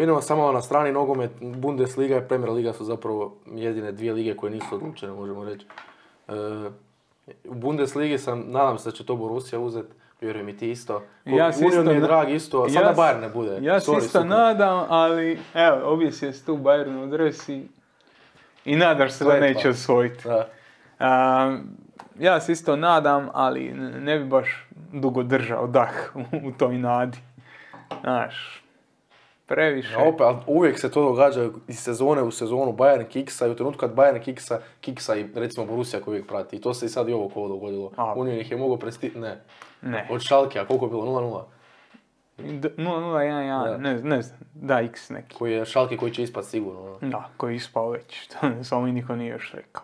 Idemo samo na strani nogomet, Bundesliga i Premier Liga su zapravo jedine dvije lige koje nisu odlučene, možemo reći. U Bundesligi nadam se da će to Borussia uzeti, vjerujem i ti isto. Union mi je drag isto, sada Bayern ne bude. Ja se isto nadam, ali evo, objesio se tu Bayern u dres i nadaš se da neće osvojiti. Ja se isto nadam, ali ne bi baš dugo držao dah u toj nadi. Znaš, previše. Ali uvijek se to događa iz sezone u sezonu, Bayern kiksa i u trenutku kad Bayern kiksa i recimo Borussia koji uvijek prati. I to se i sad i ovo kolo dogodilo. Union ih je mogao Ne. Od Schalke, a koliko je bilo? 0-0? 0-0-1-1, ne znam, da x neki. Koji je Schalke koji će ispati sigurno. Da, koji je ispao već, samo mi niko nije još rekao.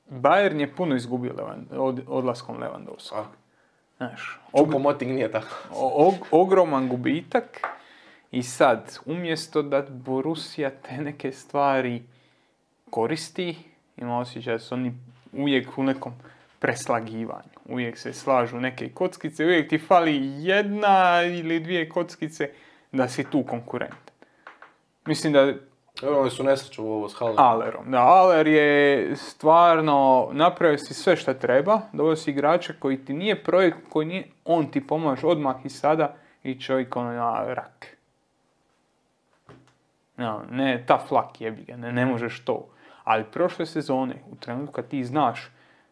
Bayern je puno izgubio odlaskom Lewandowskog. Znaš, Choupo-Moting nije tako. Ogroman gubitak i sad, umjesto da Borussia te neke stvari koristi, ima osjećaj da su oni uvijek u nekom preslagivanju. Uvijek se slažu neke kockice, uvijek ti fali jedna ili dvije kockice da si tu konkurent. Mislim da... Oni su nesreću ovo s Hallerom. Da, Haller je stvarno napravio si sve što treba, doveo si igrača koji ti nije projekt, koji nije, on ti pomaže odmah i sada i čovjek na rak. No, ne, ta flak jebi ga, ne možeš to. Ali prošle sezone, u trenutku kad ti znaš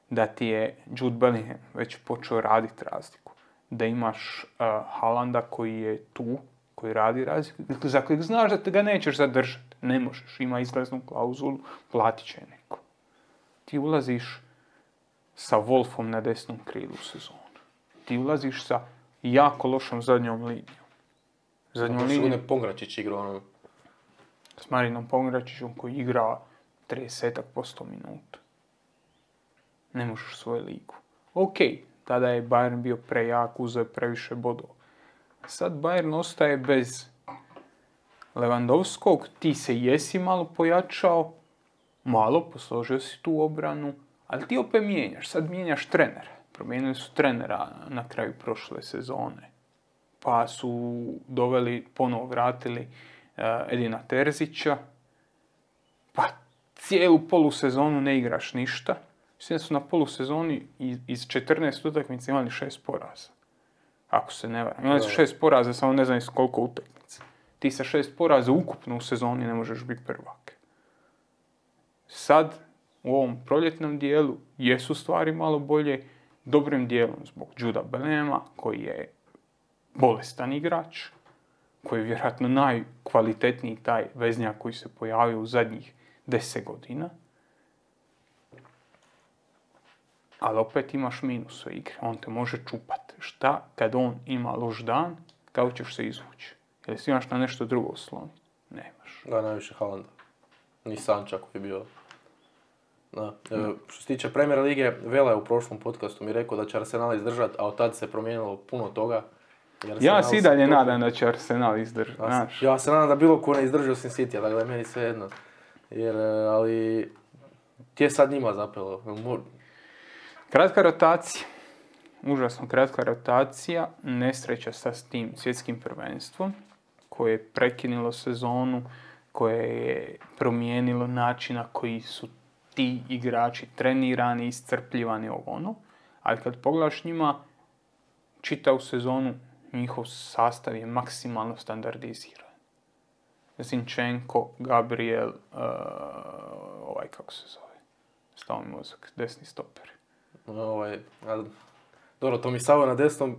da ti je Jude Bellingham već počeo raditi razliku, da imaš Haalanda koji je tu, koji radi razliku, za kojeg znaš da te ga nećeš zadržati. Ne možeš, ima izlaznu klauzulu, platit će neko. Ti ulaziš sa Wolfom na desnom krilu u sezonu. Ti ulaziš sa jako lošom zadnjom linijom. Ne Pongračić igra s Marinom Pongračićom koji igra 30% minuta. Ne možeš svoju ligu. Ok, tada je Bayern bio prejak, uzeo je previše bodova. Sad Bayern ostaje bez Lewandowskog, ti se jesi malo pojačao, malo posložio si tu obranu, ali ti opet mijenjaš. Sad mijenjaš trenera. Promijenili su trenera na kraju prošle sezone. Pa su ponovo vratili Edina Terzića. Pa cijelu polusezonu ne igraš ništa. Mislim da su na polusezoni iz 14 utakmica imali 6 poraza. Ako se ne varam. Imali su 6 poraza, samo ne znam iz koliko utakmica. Ti sa 6 poraza ukupno u sezoni ne možeš biti prvak. Sad, u ovom proljetnom dijelu, jesu stvari malo bolje, dobrim dijelom zbog Juda Bellinghama, koji je bolestan igrač, koji je vjerojatno najkvalitetniji taj veznjak koji se pojavio u zadnjih 10 godina. Ali opet imaš minus u igri, on te može čupati. Šta kad on ima loš dan, kako ćeš se izvući? Jel si imaš na nešto drugo osloniti? Nemaš. Da, najviše Haalanda. Ni Sanča koji je bio. Što se tiče Premier Lige, Vela je u prošlom podcastu mi rekao da će Arsenal izdržati, a od tad se promijenilo puno toga. Ja si i dalje nadam da će Arsenal izdržati. Ja se nadam da bilo ko ne izdrži osim City, dakle meni sve jedno. Ali ti je sad njima zapelo. Kratka rotacija. Užasno kratka rotacija. Nesreća sa tim svjetskim prvenstvom koje je prekinulo sezonu, koje je promijenilo način na koji su ti igrači trenirani, iscrpljivani ono. Ali kad pogledaš njima, čitavu sezonu, njihov sastav je maksimalno standardiziran. Zinchenko, Gabriel, kako se zove? Stao mi mozak, desni stoper. Dobro, to mi Savo na desnom...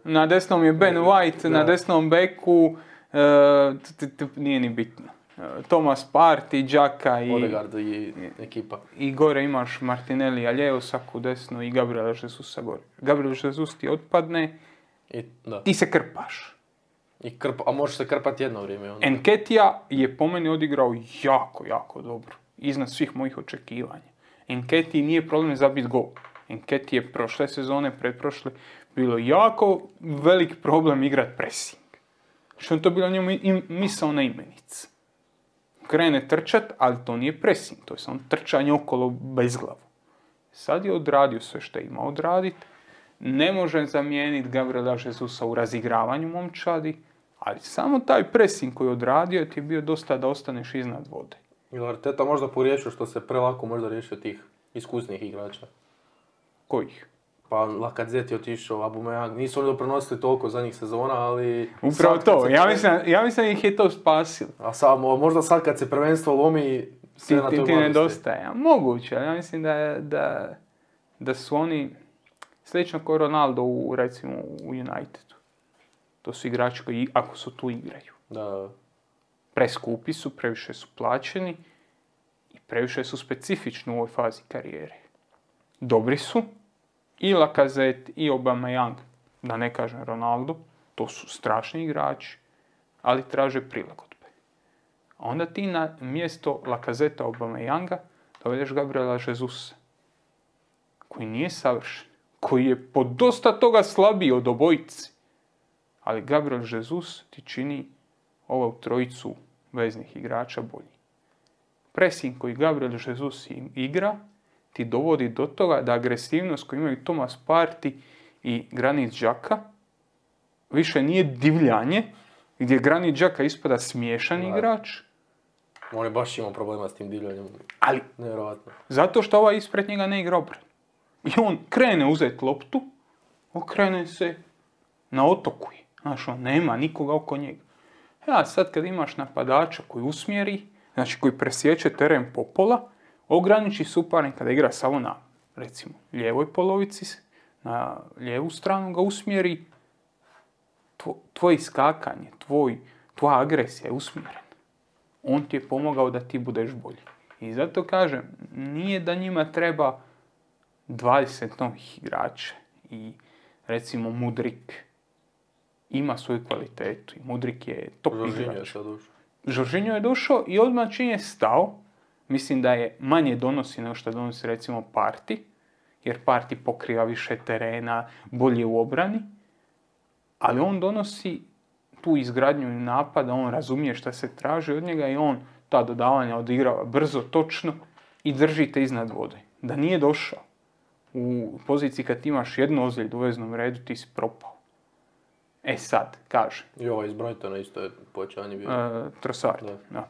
Na desnom je Ben White, na desnom beku, nije ni bitno. Thomas Partey, Xhaka i... Odegaard i ekipa. I gore imaš Martinelli, lijevo saku desno i Gabriela Jesusa gore. Gabriel Jesus ti otpadne, ti se krpaš. A možeš se krpati jedno vrijeme. Nketiah je po meni odigrao jako, jako dobro. Iznad svih mojih očekivanja. Nketiah nije problem zabiti gol. Enketi je prošle sezone, pretprošle, bilo jako velik problem igrat pressing. Što je to bilo njemu misaona imenica. Krene trčat, ali to nije pressing, to je samo trčanje okolo bez glavu. Sad je odradio sve što je imao odraditi. Ne može zamijeniti Gabriela Jesusa u razigravanju momčadi, ali samo taj pressing koji je odradio ti je bio dosta da ostaneš iznad vode. Ili Arteta možda pogriješio što se prelako možda riješio tih iskusnih igrača? Kojih? Pa Lacazette je otišao, Aubameyang, nisu oni doprinosili toliko zadnjih sezona, ali... Upravo to, ja mislim ih je to spasilo. A možda sad kad se prvenstvo lomi, sve na toj mladosti. Ti nedostaje, moguće, ali ja mislim da su oni slično kao Ronaldo recimo u Unitedu. To su igrači koji, ako su tu, igraju. Da. Preskupi su, previše su plaćeni i previše su specifični u ovoj fazi karijere. Dobri su, i Lacazette i Aubameyang, da ne kažem Ronaldo, to su strašni igrači, ali traže prilagodbe. A onda ti na mjesto Lacazette Aubameyanga dovedeš Gabriela Jesusa, koji nije savršen, koji je po dosta toga slabiji od obojici. Ali Gabriel Jesus ti čini ovu trojicu veznih igrača bolji. Pressing koji Gabriel Jesus igra ti dovodi do toga da agresivnost koju imaju Thomas Partey i Granit Xhaka više nije divljanje, gdje Granit Xhaka ispada smiješan igrač. On je baš imao problema s tim divljanjem. Ali, nevjerovatno. Zato što ovaj ispred njega ne igra obranu. I on krene uzeti loptu, okrene se, na otoku je. Znaš, on nema nikoga oko njega. Ja, sad kad imaš napadača koji usmjeri, znači koji presjeće teren po pola, ograniči suparnika da igra samo na, recimo, lijevoj polovici, na lijevu stranu ga usmjeri, tvoje iskakanje, tvoja agresija je usmjerena. On ti je pomogao da ti budeš bolji. I zato kažem, nije da njima treba 20 novih igrača i recimo Mudrik ima svoju kvalitetu i Mudrik je top igrač. Jorginho je došao i odmah čim je stao, mislim da je manje donosi nego što donosi recimo Partey, jer Partey pokriva više terena, bolje u obrani, ali on donosi tu izgradnju napada, on razumije šta se traži od njega i on ta dodavanja odigrava brzo, točno i držite iznad vode. Da nije došao u poziciji kad imaš jednu ozljedu u veznom redu, ti si propao. E sad, kaže. I ovo iz Brightona isto je povećanje bio. Trossard, da.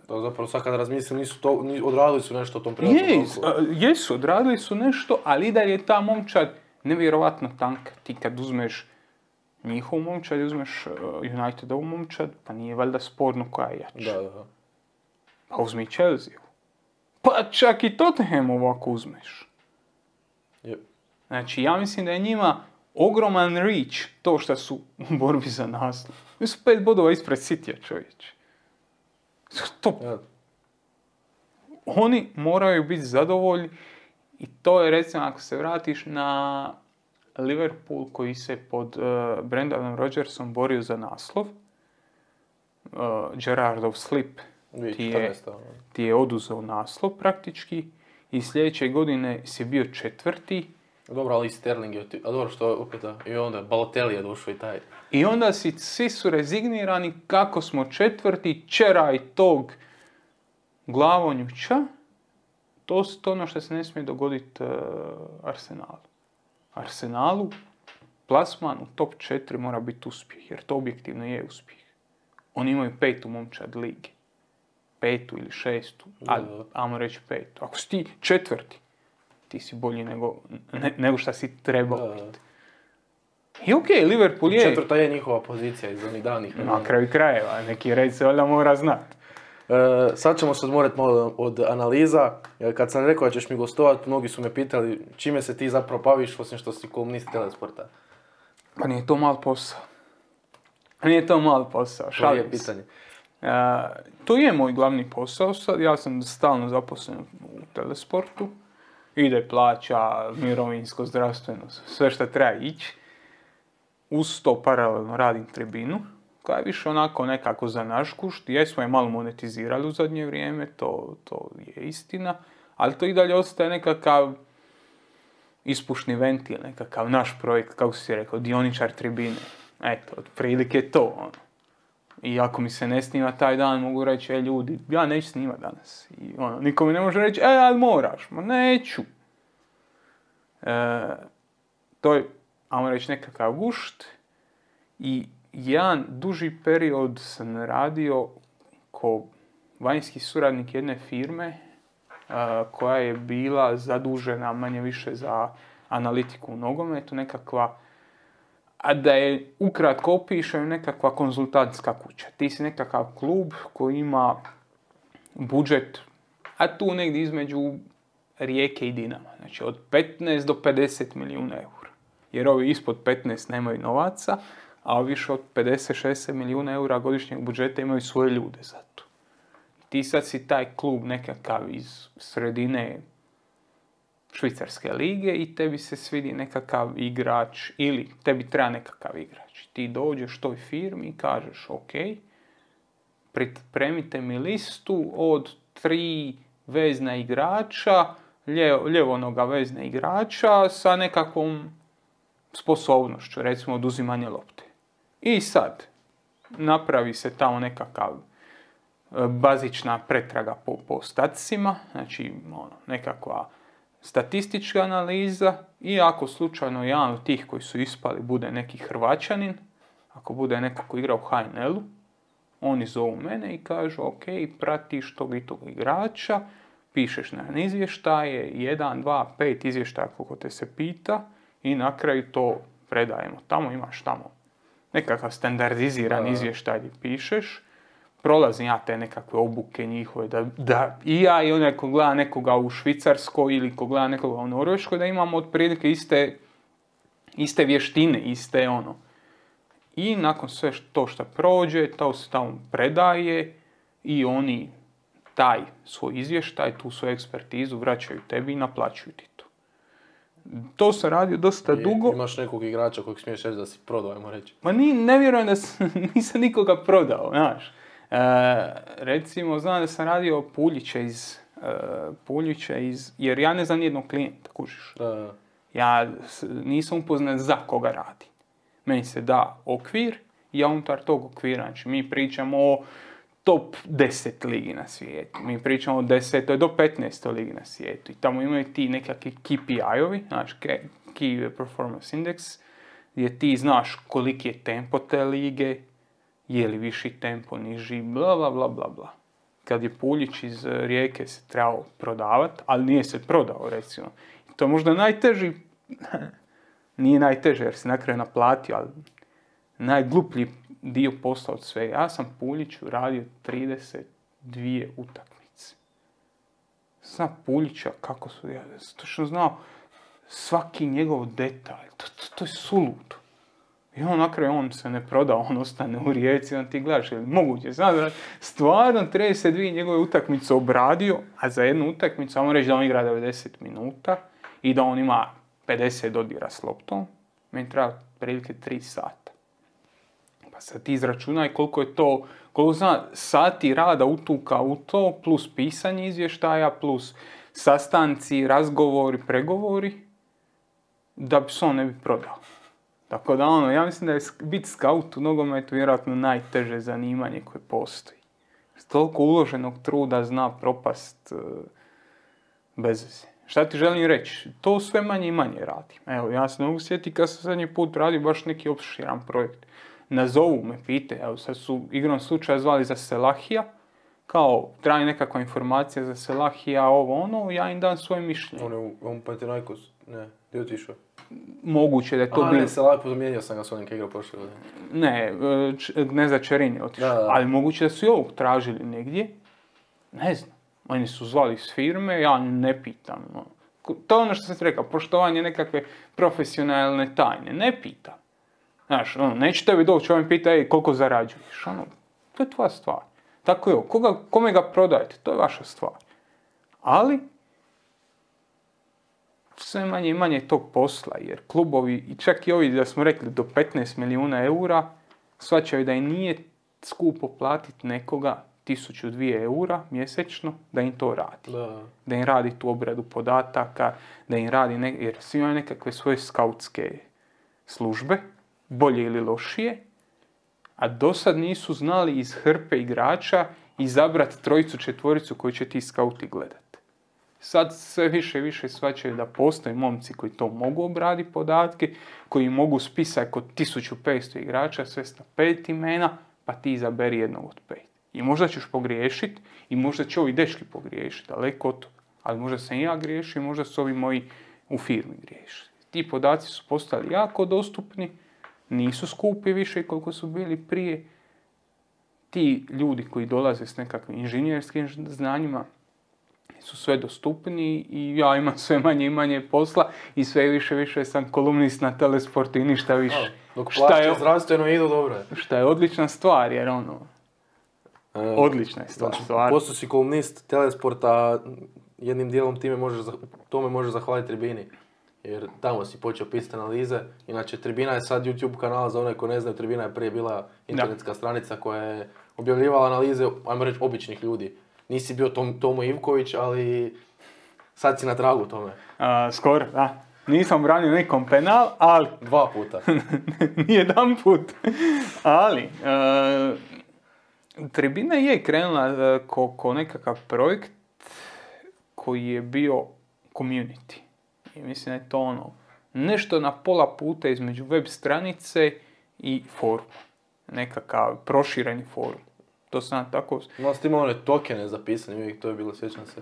Zapravo sad kad razmislim, odradili su nešto o tom prijatelju. Jesu, odradili su nešto, ali da je ta momčad nevjerovatno tanka. Ti kad uzmeš njihovu momčad i uzmeš Unitedovu momčad, pa nije valjda sporno koja je jača. Da. Pa uzmi Chelsea. Pa čak i Tottenham ovako uzmeš. Yep. Znači, ja mislim da je njima ogroman reach to što su u borbi za naslov. Mi su 5 bodova ispred Citya, čovječe. Stop. Ja. Oni moraju biti zadovoljni i to je, recimo, ako se vratiš na Liverpool koji se pod Brendanom Rodgersom borio za naslov, Gerrardov slip ti je oduzeo naslov praktički i sljedeće godine si bio 4. Dobro, ali i Sterling je a dobro što opet i onda Balotelli je došao i taj. I onda svi su rezignirani kako smo 4. čeraj tog glavonjuća. To je ono što se ne smije dogoditi Arsenalu. Arsenalu plasman u top 4 mora biti uspjeh, jer to objektivno je uspjeh. Oni imaju 5. momčad lige. 5. ili 6. ali ajmo reći 5. Ako si ti 4. ti si bolji nego što si trebao biti. I okej, Liverpool je... 4. je njihova pozicija iz onih danih. Na kraju krajeva, neki red se valjda mora znati. Sad ćemo se odmoriti malo od analiza. Kad sam rekao da ćeš mi gostovati, mnogi su me pitali čime se ti zapravo baviš, osim što si kolumnist Telesporta. Pa nije to mal posao. To je pitanje. To je moj glavni posao sad. Ja sam stalno zaposlen u Telesportu. Ide plaća, mirovinsko, zdravstveno, sve što treba ići. Uz to paralelno radim Tribinu, koja je više onako nekako za naš kušt. Jesmo je malo monetizirali u zadnje vrijeme, to je istina. Ali to i dalje ostaje nekakav ispušni ventil, nekakav naš projekt, kako si rekao, dioničar tribine. Eto, otprilike to, ono. I ako mi se ne snima taj dan, mogu reći, ljudi, ja neću snimat danas. I ono, niko mi ne može reći, ali moraš. Ma neću. To je, ajmo reći, nekakav gušt. I jedan duži period sam radio ko vanjski suradnik jedne firme koja je bila zadužena manje više za analitiku u nogometu, nekakva, a da je ukratko opišem, nekakva konzultantska kuća. Ti si nekakav klub koji ima budžet, a tu negdje između Rijeke i Dinama. Znači od 15 do 50 milijuna eura. Jer ovi ispod 15 nemaju novaca, a više od 50-60 milijuna eura godišnjeg budžeta imaju svoje ljude za to. Ti sad si taj klub nekakav iz sredine švicarske lige i tebi se svidi nekakav igrač ili tebi treba nekakav igrač. Ti dođeš toj firmi i kažeš ok, pripremite mi listu od 3 vezna igrača, ljevonoga vezna igrača sa nekakvom sposobnošću, recimo oduzimanje lopte. I sad napravi se tamo nekakav bazična pretraga po statisima, znači nekakva statistička analiza i ako slučajno jedan od tih koji su ispali bude neki Hrvaćanin, ako bude neko ko igra u HNL-u, oni zovu mene i kažu ok, pratiš tog i tog igrača, pišeš na izvještaje, 1, 2, 5 izvještaja koliko te se pita i na kraju to predajemo. Tamo imaš nekakav standardiziran izvještaj gdje pišeš, prolazim ja te nekakve obuke njihove, da i ja i onaj ko gleda nekoga u Švicarskoj ili ko gleda nekoga u Norveškoj, da imamo otprilike iste vještine, iste ono. I nakon sve to što prođe, to se tamo predaje i oni taj svoj izvještaj, tu svoju ekspertizu vraćaju tebi i naplaćuju ti to. To se radi dosta dugo. Imaš nekog igrača kojeg smiješ reći da si prodao, ajmo reći. Ma ne vjerujem da nisam nikoga prodao, znaš. Recimo, znam da sam radio Puljića jer ja ne znam nijednog klijenta, kužiš. Ja nisam upoznat za koga radi. Meni se da okvir i ja unutar tog okvira, znači mi pričamo o top 10 ligi na svijetu. Mi pričamo o 10. do 15. ligi na svijetu. I tamo imaju ti nekakvi KPI-ovi, znači Key Performance Index, gdje ti znaš koliki je tempo te lige, je li viši tempo, niži, bla bla bla bla bla. Kad je Puljić iz Rijeke se trebao prodavati, ali nije se prodao, recimo. I to je možda najteži, nije najteže jer se na kraju naplatio, ali najgluplji dio posla od svega. Ja sam Puljiću radio 32 utakmice. Znam Puljića kako su, ja točno znao svaki njegov detalj. To je suludo. I on na kraju on se ne proda, on ostane u Rijeci, on ti gledaš, je li moguće? Znam da stvarno 32 njegove utakmice obradio, a za jednu utakmicu, ajmo reći da on igra 90 minuta i da on ima 50 dodira s loptom, meni treba prilike 3 sata. Pa sad ti izračunaj koliko zna sati rada utuka u to, plus pisanje izvještaja, plus sastanci, razgovori, pregovori, da bi se on ne bi prodao. Tako da ja mislim da je biti skaut u nogometu vjerojatno najteže zanimanje koje postoji. Toliko uloženog truda zna propast bez veze. Šta ti želim reći? To sve manje i manje radim. Evo, ja se ne mogu sjetiti kad sam zadnji put radio baš neki opširan projekt. Nazovu me, pite, evo sad su igrom slučaja zvali za Selahija, kao traži nekakva informacija za Selahija, ja im dam svoje mišljenje. On Panathinaikos, ne, gdje je otišao? Moguće da je to bilo... Ne, Selahija, zamijenio sam ga s onim koji igrao prošle godine. Ne za Čerin je otišao, ali moguće da su i ovog tražili negdje, ne znam. Oni su zvali iz firme, ja ne pitam. To je ono što sam ti rekao, poštovanje nekakve profesionalne tajne, ne pitam. Znaš, neće tebi doći, ovaj pita, koliko zarađuješ? To je tvoja stvar. Tako je, kome ga prodajete, to je vaša stvar. Ali, sve manje i manje tog posla, jer klubovi, i čak i ovi da smo rekli do 15 milijuna eura, shvaćaju da i nije skupo platiti nekoga 1000-2 eura mjesečno da im to radi. Da im radi tu obradu podataka, da im radi, jer svi imaju nekakve svoje skautske službe, bolje ili lošije, a do sad nisu znali iz hrpe igrača izabrati 3-4 koji će ti skauti gledati. Sad sve više i više shvaćaju da postoje momci koji to mogu obraditi podatke, koji mogu spisati kod 1500 igrača, svesti na 5 imena, pa ti izaberi jednog od 5. I možda ćeš pogriješiti, i možda će ovi dečki pogriješiti, daleko od toga. Ali možda sam i ja griješio, i možda su ovi moji u firmi griješili. Ti podaci su postali jako dostupni, nisu skupi više koliko su bili prije. Ti ljudi koji dolaze s nekakvim inženjerskim znanjima su sve dostupniji i ja imam sve manje i manje posla i sve više sam kolumnist na Telesportu i ništa više. Dok plaće zdravstveno idu dobro. Šta je odlična stvar, jer odlična je stvar. Posto si kolumnist Telesporta, jednim dijelom tome možeš zahvaliti Tribini. Jer tamo si počeo pisati analize. Inače, Tribina je sad YouTube kanal, za one koji ne znaju, Tribina je prije bila internetska stranica koja je objavljivala analize, ajmo reći, običnih ljudi. Nisi bio Tomo Ivković, ali sad si na tragu tome. Skoro, da. Nisam branio nekom penal, ali... 2 puta. Nijedan put. Ali, Tribina je krenula ko nekakav projekt koji je bio community. I mislim da je to nešto na pola puta između web stranice i foruma. Nekakav prošireni forum. To sam tako... No, ste imali one tokene zapisane, uvijek to je bilo, sjećam se.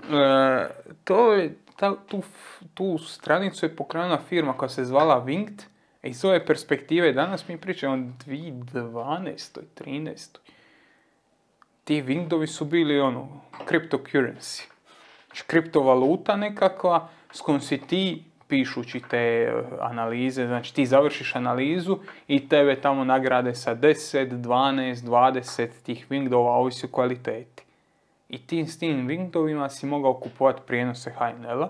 Tu stranicu je pokrenula firma koja se zvala Winged. Iz ove perspektive danas mi pričamo o 2012. 13. Ti Wingdovi su bili cryptocurrency. Znači, kriptovaluta nekakva s kojom si ti, pišući te analize, znači ti završiš analizu i tebe tamo nagrade sa 10, 12, 20 tih Wingdova, ovisi o kvaliteti. I s tim Wingdovima si mogao kupovati prijenose HNL-a,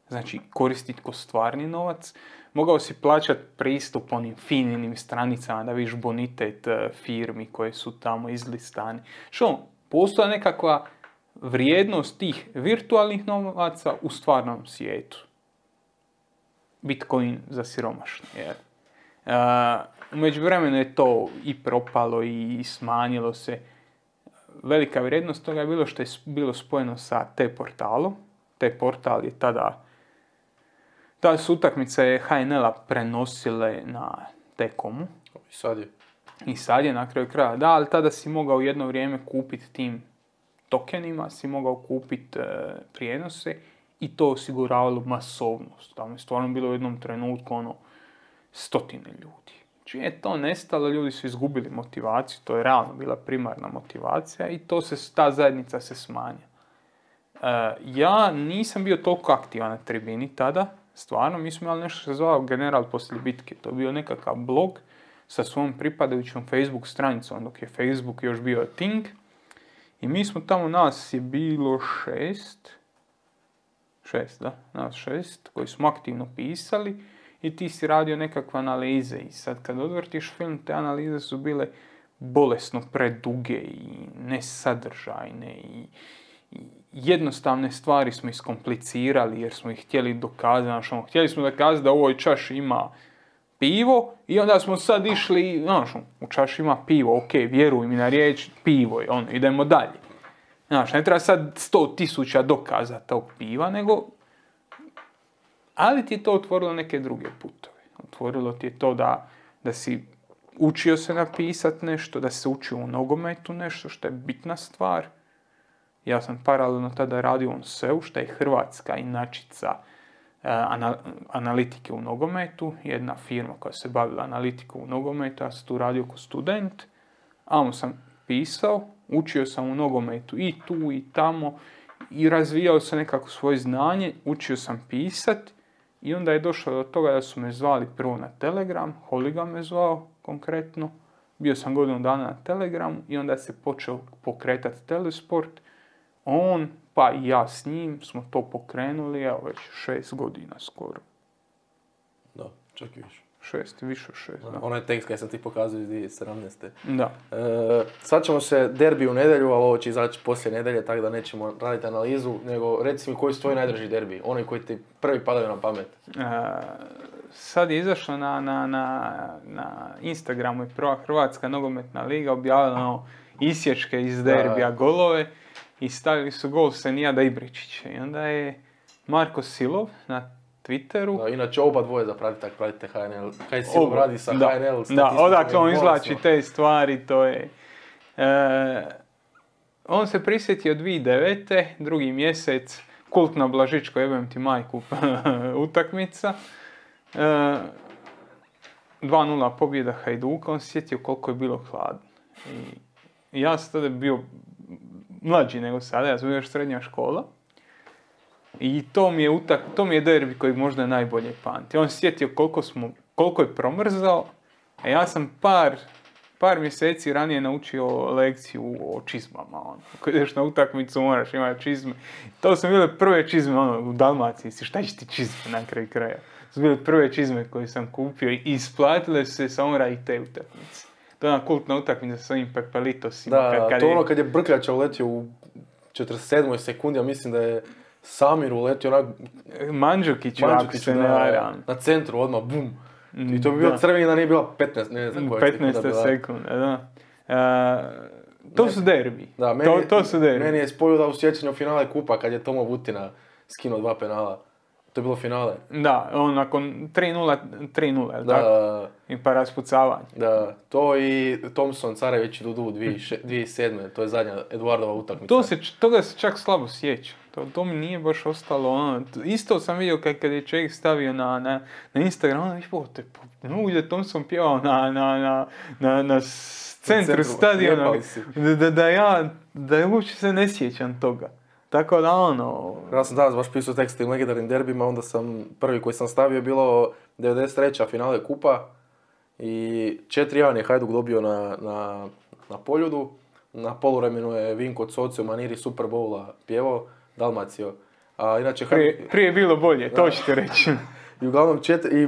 znači koristiti ko stvarni novac. Mogao si plaćati pristup onim finim stranicama da vidiš bonitet firmi koje su tamo izlistani. Postoji nekakva vrijednost tih virtualnih novaca u stvarnom svijetu. Bitcoin za siromašne. U međuvremenu je to i propalo i smanjilo se. Velika vrijednost toga je bilo što je bilo spojeno sa T-portalom. T-portal je tada su utakmice HNL-a prenosile na T-komu. I sad je na kraju kraja. Da, ali tada si mogao jedno vrijeme kupiti tim tokenima, si mogao kupiti prijenose i to osiguravalo masovnost. Tamo je stvarno bilo u jednom trenutku 100 ljudi. Znači je to nestalo, ljudi su izgubili motivaciju, to je realno bila primarna motivacija i ta zajednica se smanja. Ja nisam bio toliko aktivan na Tribini tada, stvarno, mi smo imali nešto što se zvao General poslije bitke. To je bio nekakav blog sa svojom pripadajućom Facebook stranicom, dok je Facebook još bio thing. I mi smo tamo, nas je bilo 6 koji smo aktivno pisali i ti si radio nekakve analize. I sad kad odvrtiš film, te analize su bile bolesno preduge i nesadržajne i jednostavne stvari smo iskomplicirali jer smo ih htjeli dokazati. Htjeli smo dokazati da u ovoj čaši ima pivo i onda smo sad išli, u čaši ima pivo, ok, vjeruj mi na riječ, pivo je, idemo dalje. Ne treba sad 100.000 dokaza tog piva, nego... Ali ti je to otvorilo neke druge putove. Otvorilo ti je to da si učio se napisati nešto, da se učio u nogometu nešto, što je bitna stvar. Ja sam paralelno tada radio u SEU, što je hrvatska inačica analitike u nogometu. Jedna firma koja se bavila analitikom u nogometu, ja sam tu radio kao student. Sam pisao, učio sam u nogometu i tu i tamo i razvijao sam nekako svoje znanje, učio sam pisat i onda je došlo do toga da su me zvali prvo na Telegram, Holiga me zvao konkretno, bio sam godinu dana na Telegramu i onda se počeo pokretati Telesport, on pa i ja s njim smo to pokrenuli, evo već 6 godina skoro. Da, čak i više. 6, više od 6, da. Onaj tekst kaj sam ti pokazao iz 2017. Da. Sad ćemo se derbi u nedjelju, ali ovo će izaći poslije nedjelje, tako da nećemo raditi analizu, nego reci mi koji su tvoji najdrži derbi, oni koji ti prvi padaju na pamet. Sad je izašlo na Instagramu i prva Hrvatska nogometna liga objavila isječke iz derbija, golove, i stavili su gol Senijada Ibričića. I onda je Marko Silov na Twitteru. Da, inače oba dvoje zapratite, ako pratite HNL. Kaj Silov radi sa HNL? Da, odakle on izvlači te stvari, to je... on se prisjetio 2009. drugi mjesec, kultna Blažičko, jebem ti majku, utakmica. 2-0 pobjeda Hajduka, on se sjetio koliko je bilo hladno. I ja sam tada bio mlađi nego sada, ja sam bio još srednja škola. I to mi je derbi koji možda najbolje pamti. On se sjetio koliko je promrzao, a ja sam par mjeseci ranije naučio lekciju o čizmama. Ako ideš na utakmicu moraš imati čizme. To su bile prve čizme u Dalmaciji. Šta će ti čizme na kraju kraja? To su bile prve čizme koje sam kupio i isplatile su se samo radi te utakmice. To je ona kultna utakmica sa ovim Pepelitosima. Da, to je ono kad je Brkljača uletio u 47. sekundi, ja mislim da je Samir uletio onak... Mandžukiću, ako se ne varam. Na centru odmah, bum. I to bi bilo crveni da nije bila 15, ne znam koja 15 sekunda, da. To su derbi. Da, to su derbi. Meni je spojio da u sjećanju finale kupa kad je Tomo Vutina skinuo 2 penala. To je bilo finale. Da, on nakon 3-0, da, tako? I pa raspucavanje. Da, to i Thompson, Carević i Dudu 2007. To je zadnja Eduardova utakmica. Toga se čak slabo sjeća. To mi nije baš ostalo. Isto sam vidio kad je čovjek stavio na Instagram, ne mogu da Thompson pjevao na centru stadiona. Da ja uopće se ne sjećam toga. Tako da Ja sam danas baš pisao tekst o legendarnim derbima, onda sam prvi koji sam stavio bilo 93. finale kupa i 4-1 je Hajduk dobio na Poljudu. Na poluvremenu je Vinko Coci u maniri Super Bowla pjevao, Dalmacio. A inače prije je bilo bolje, to ćete reći. I uglavnom i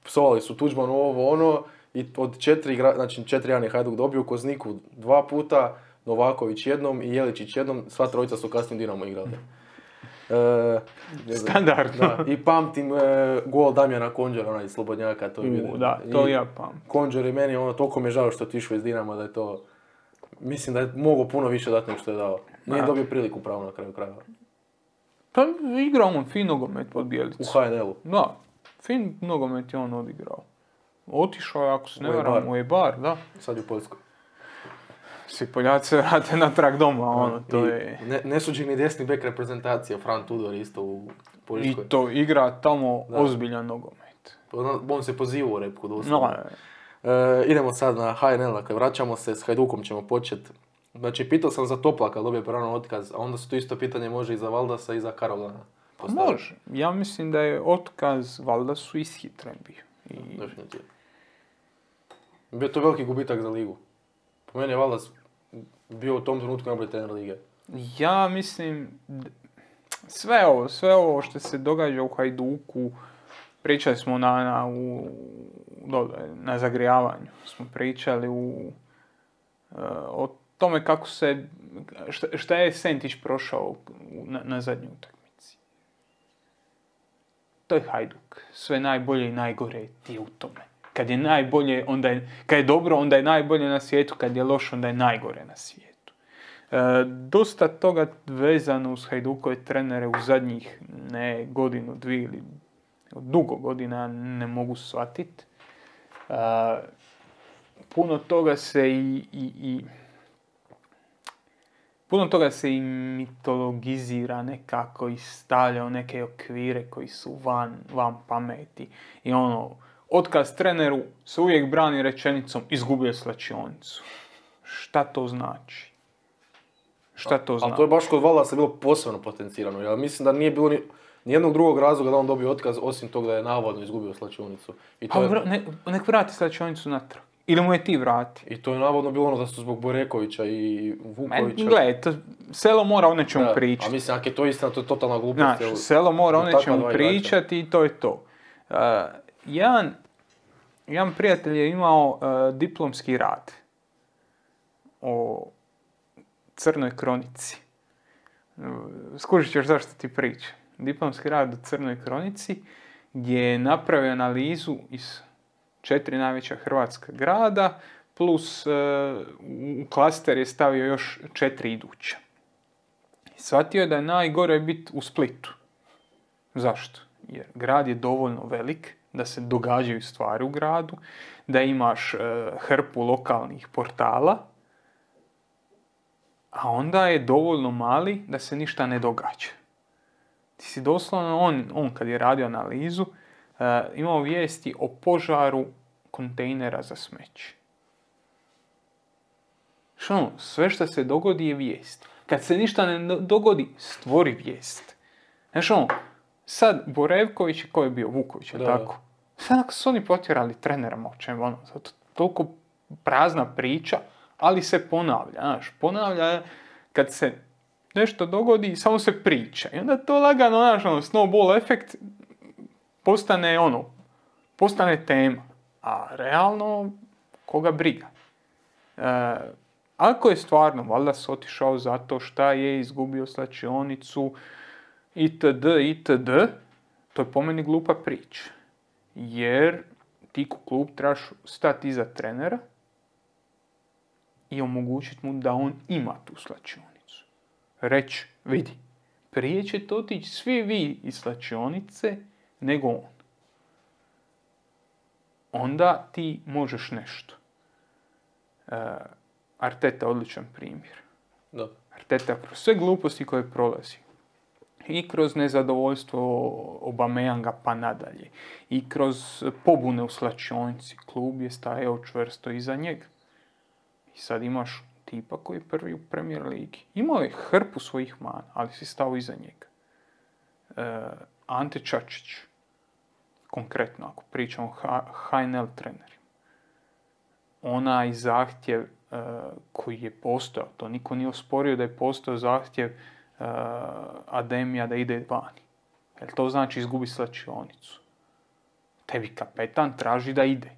psovali su Tuđman ovo ono i od 4-1 je Hajduk dobio, Kozniku 2 puta, Novaković jednom i Jeličić jednom, sva trojica su kasnije Dinamo igrali. Standardno. Da, i pamtim gol Damjana Konđera, onaj slobodnjaka. Da, to ja pamtim. Konđer je meni, toliko mi je žao što je otišao iz Dinama, da je to... Mislim da je mogao puno više dati nego što je dao. Nije dobio priliku pravo na kraju krajeva. Pa igrao on fin nogomet pod Bjelicu. U HNL-u. Da, fin nogomet je on odigrao. Otišao je, ako se ne varam, u Eibar, da. Sad je u Poljskoj. Svi Poljaci se vrate natrag doma, to je... Nesuđeni desni bek reprezentacije, Fran Tudor isto u Poljskoj. I to igra tamo ozbiljan nogomet. On se poziva u repku doslovno. Idemo sad na HNL, dakle vraćamo se, s Hajdukom ćemo početi. Znači, pitao sam za Toplaka, dobio pravo otkaz, a onda su to isto pitanje može i za Valdasa i za Karolana. Može. Ja mislim da je otkaz Valdasu ishitren bio. Definitivno. Bio to veliki gubitak za ligu. Po meni je Valdas bio u tom trenutku najbolji trener lige. Ja mislim, sve ovo što se događa u Hajduku, pričali smo na zagrijavanju, smo pričali o tome kako šta je Sentić prošao na zadnjoj utakmici. To je Hajduk. Sve najbolje i najgore ti je u tome. Kad je najbolje, kad je dobro, onda je najbolje na svijetu, kad je loš, onda je najgore na svijetu. Dosta toga vezano uz Hajdukove trenere u zadnjih godinu, dvije ili dugo godina ne mogu shvatiti. Puno toga se i mitologizira nekako i stavlja u neke okvire koji su van pameti. I otkaz treneru se uvijek brani rečenicom izgubio slačionicu. Šta to znači? Ali to je baš kod Valdasa bilo posebno potencirano. Ja mislim da nije bilo nijednog drugog razloga da on dobio otkaz, osim toga da je navodno izgubio slačionicu. Nek vrati slačionicu natrag. Ili mu je ti vrati. I to je navodno bilo da su zbog Borekovića i Vukovića. Gledaj, selo mora o nečemu pričati. A mislim, ako je to istina, to je totalna glupost. Selo mora o nečemu pričati i to je to. Jedan jedan prijatelj je imao diplomski rad o Crnoj kronici. Skužit ćeš zašto ti pričam. Diplomski rad o Crnoj kronici gdje je napravio analizu iz 4 najveća hrvatska grada plus u klaster je stavio još 4 iduća. Shvatio je da je najgore biti u Splitu. Zašto? Jer grad je dovoljno velik da se događaju stvari u gradu, da imaš hrpu lokalnih portala, a onda je dovoljno mali da se ništa ne događa. Ti si doslovno, on kad je radio analizu, imao vijesti o požaru kontejnera za smeće. Sve što se dogodi je vijest. Kad se ništa ne dogodi, stvori vijest. Znaš sad Borevković, ko je bio Vuković, tako? Sad ako su oni potjerali trenera, zato toliko prazna priča, ali se ponavlja, ponavlja kad se nešto dogodi, samo se priča. I onda to lagano, snowball efekt postane tema. A realno, koga briga? Ako je stvarno, valjda se otišao zato šta je izgubio slačionicu, itd., to je po meni glupa priča. Jer ti ko klub trebaš stati iza trenera i omogućiti mu da on ima tu slačionicu. Reći, vidi, prije ćete otići svi vi iz slačionice nego on. Onda ti možeš nešto. Arteta odličan primjer. Da. Arteta kroz sve gluposti koje prolazi. I kroz nezadovoljstvo Aubameyanga pa nadalje. I kroz pobune u slačionici. Klub je stajao čvrsto iza njega. I sad imaš tipa koji je prvi u Premier Ligi. Imao je hrpu svojih mana, ali si stao iza njega. Ante Čačić. Konkretno, ako pričamo o HNL trenerima. Onaj zahtjev koji je postojao, to niko nije osporio da je postojao zahtjev Ademija da ide vani. Jer to znači izgubi slačionicu. Tebi kapetan traži da ide.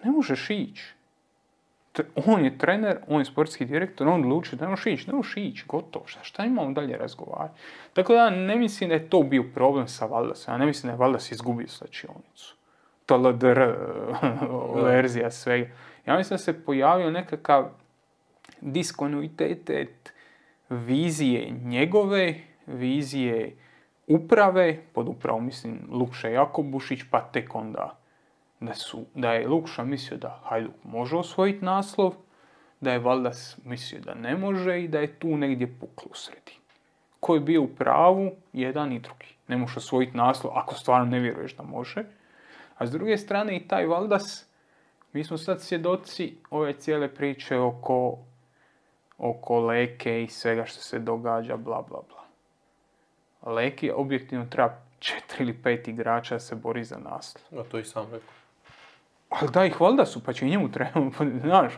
Ne možeš ići. On je trener, on je sportski direktor, on odlučio da ne možeš ići, gotovo. Šta imamo dalje razgovarati? Tako da ne mislim da je to bio problem sa Valdasom. Ja ne mislim da je Valdas izgubio slačionicu. To LDR verzija svega. Ja mislim da se pojavio nekakav diskontinuitet vizije njegove, vizije uprave, pod upravom mislim Lukša Jakobušić, pa tek onda da je Lukša mislio da Hajduk može osvojiti naslov, da je Valdas mislio da ne može i da je tu negdje puklo u sredini. Ko je bio u pravu, jedan i drugi. Ne može osvojiti naslov ako stvarno ne vjeruješ da može. A s druge strane i taj Valdas, mi smo sad svjedoci ove cijele priče oko Leke i svega što se događa, bla bla bla. Leki objektivno treba 4 ili 5 igrača da se bori za naslov. A to i sam rekao. Ali daj ih Valdasu, pa će i njemu treba, znaš,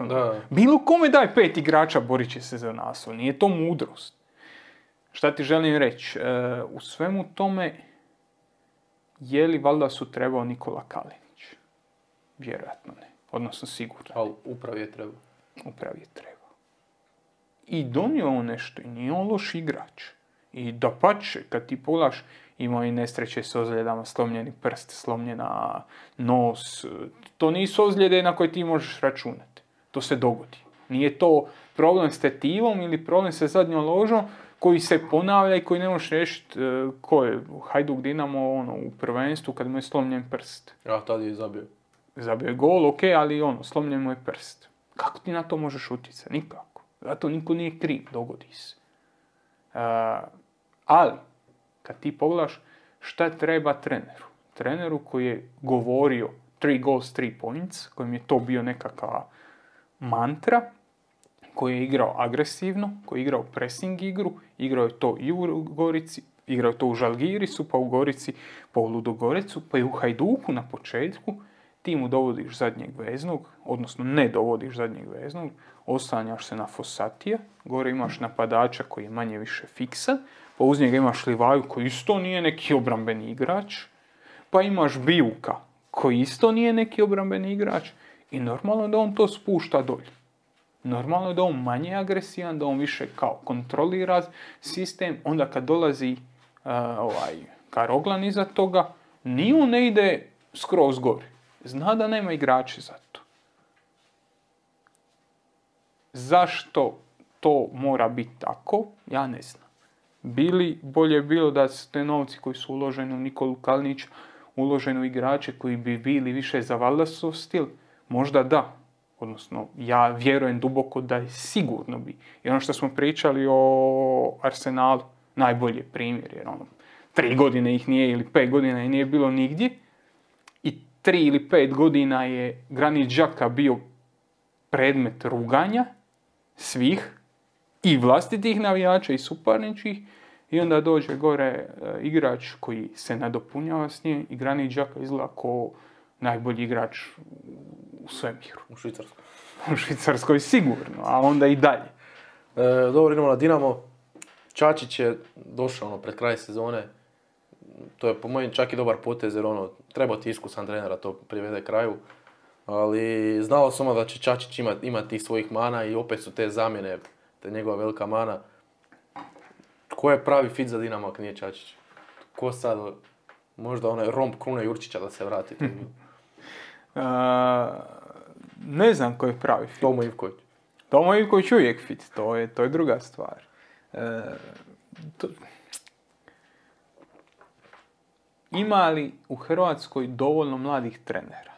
bilo kome daj 5 igrača, borit će se za naslov. Nije to mudrost. Šta ti želim reći? U svemu tome, je li Valdasu trebao Nikola Kalinić? Vjerojatno ne. Odnosno sigurno. Ali upravi je trebao. Upravi je trebao. I donio on nešto i nije on loš igrač. I dapače, kad ti pogledaš, imao i nesreće s ozljedama, slomljeni prst, slomljena nos. To nisu ozljede na koje ti možeš računati. To se dogodi. Nije to problem s tetivom ili problem sa zadnjom ložom koji se ponavlja i koji ne možeš riješiti ko je Hajduk Dinamo u prvenstvu kad mu je slomljen prst. A tad je zabio. Zabio je gol, ok, ali slomljen mu je prst. Kako ti na to možeš utjecati? Nikako. Zato niko nije kriv, dogodi se. Ali, kad ti pogledaš šta treba treneru. Treneru koji je govorio 3 goals, 3 points, kojim je to bio nekakva mantra, koji je igrao agresivno, koji je igrao pressing igru, igrao je to i u Gorici, igrao je to u Žalgirisu, pa u Gorici, pa u Ludogorecu, pa i u Hajduku na početku. Ti mu dovodiš zadnjeg veznog, odnosno ne dovodiš zadnjeg veznog, oslanjaš se na Fossatija, gore imaš napadača koji je manje više fiksan, pa uz njega imaš Livaju koji isto nije neki obrambeni igrač, pa imaš Bijuka koji isto nije neki obrambeni igrač i normalno je da on to spušta dolje. Normalno je da on manje agresivan, da on više kao kontrolira sistem, onda kad dolazi Karoglan iza toga, ni on ne ide skroz gore. Zna da nema igrači za to. Zašto to mora biti tako, ja ne znam. Bolje bilo da su te novci koji su uloženi u Nikolu Kalinića, uloženi u igrače koji bi bili više za Wallaceov stil, možda da. Odnosno, ja vjerujem duboko da je sigurno bi. I ono što smo pričali o Arsenalu, najbolji primjer, jer 3 godine ih nije ili 5 godina ih nije bilo nigdje. I 3 ili 5 godina je Granit Xhaka bio predmet ruganja svih i vlastitih navijača i suparničkih. I onda dođe gore igrač koji se nadopunjava s njim i Granit Xhaka izgleda kao najbolji igrač u svemiru. U Švicarskoj. U Švicarskoj sigurno, a onda i dalje. Dobro, idemo na Dinamo. Čačić je došao pred kraj sezone. To je po mojem čak i dobar potez jer treba ti iskusan trenera to privede kraju. Ali znalo samo da će Čačić imati tih svojih mana i opet su te zamjene, te njegova velika mana. Ko je pravi fit za Dinamo ako nije Čačić? Ko sad, možda onaj romb Krune Jurčića da se vrati? Ne znam ko je pravi fit. Tomo Ivković. Tomo Ivković uvijek fit, to je druga stvar. Ima li u Hrvatskoj dovoljno mladih trenera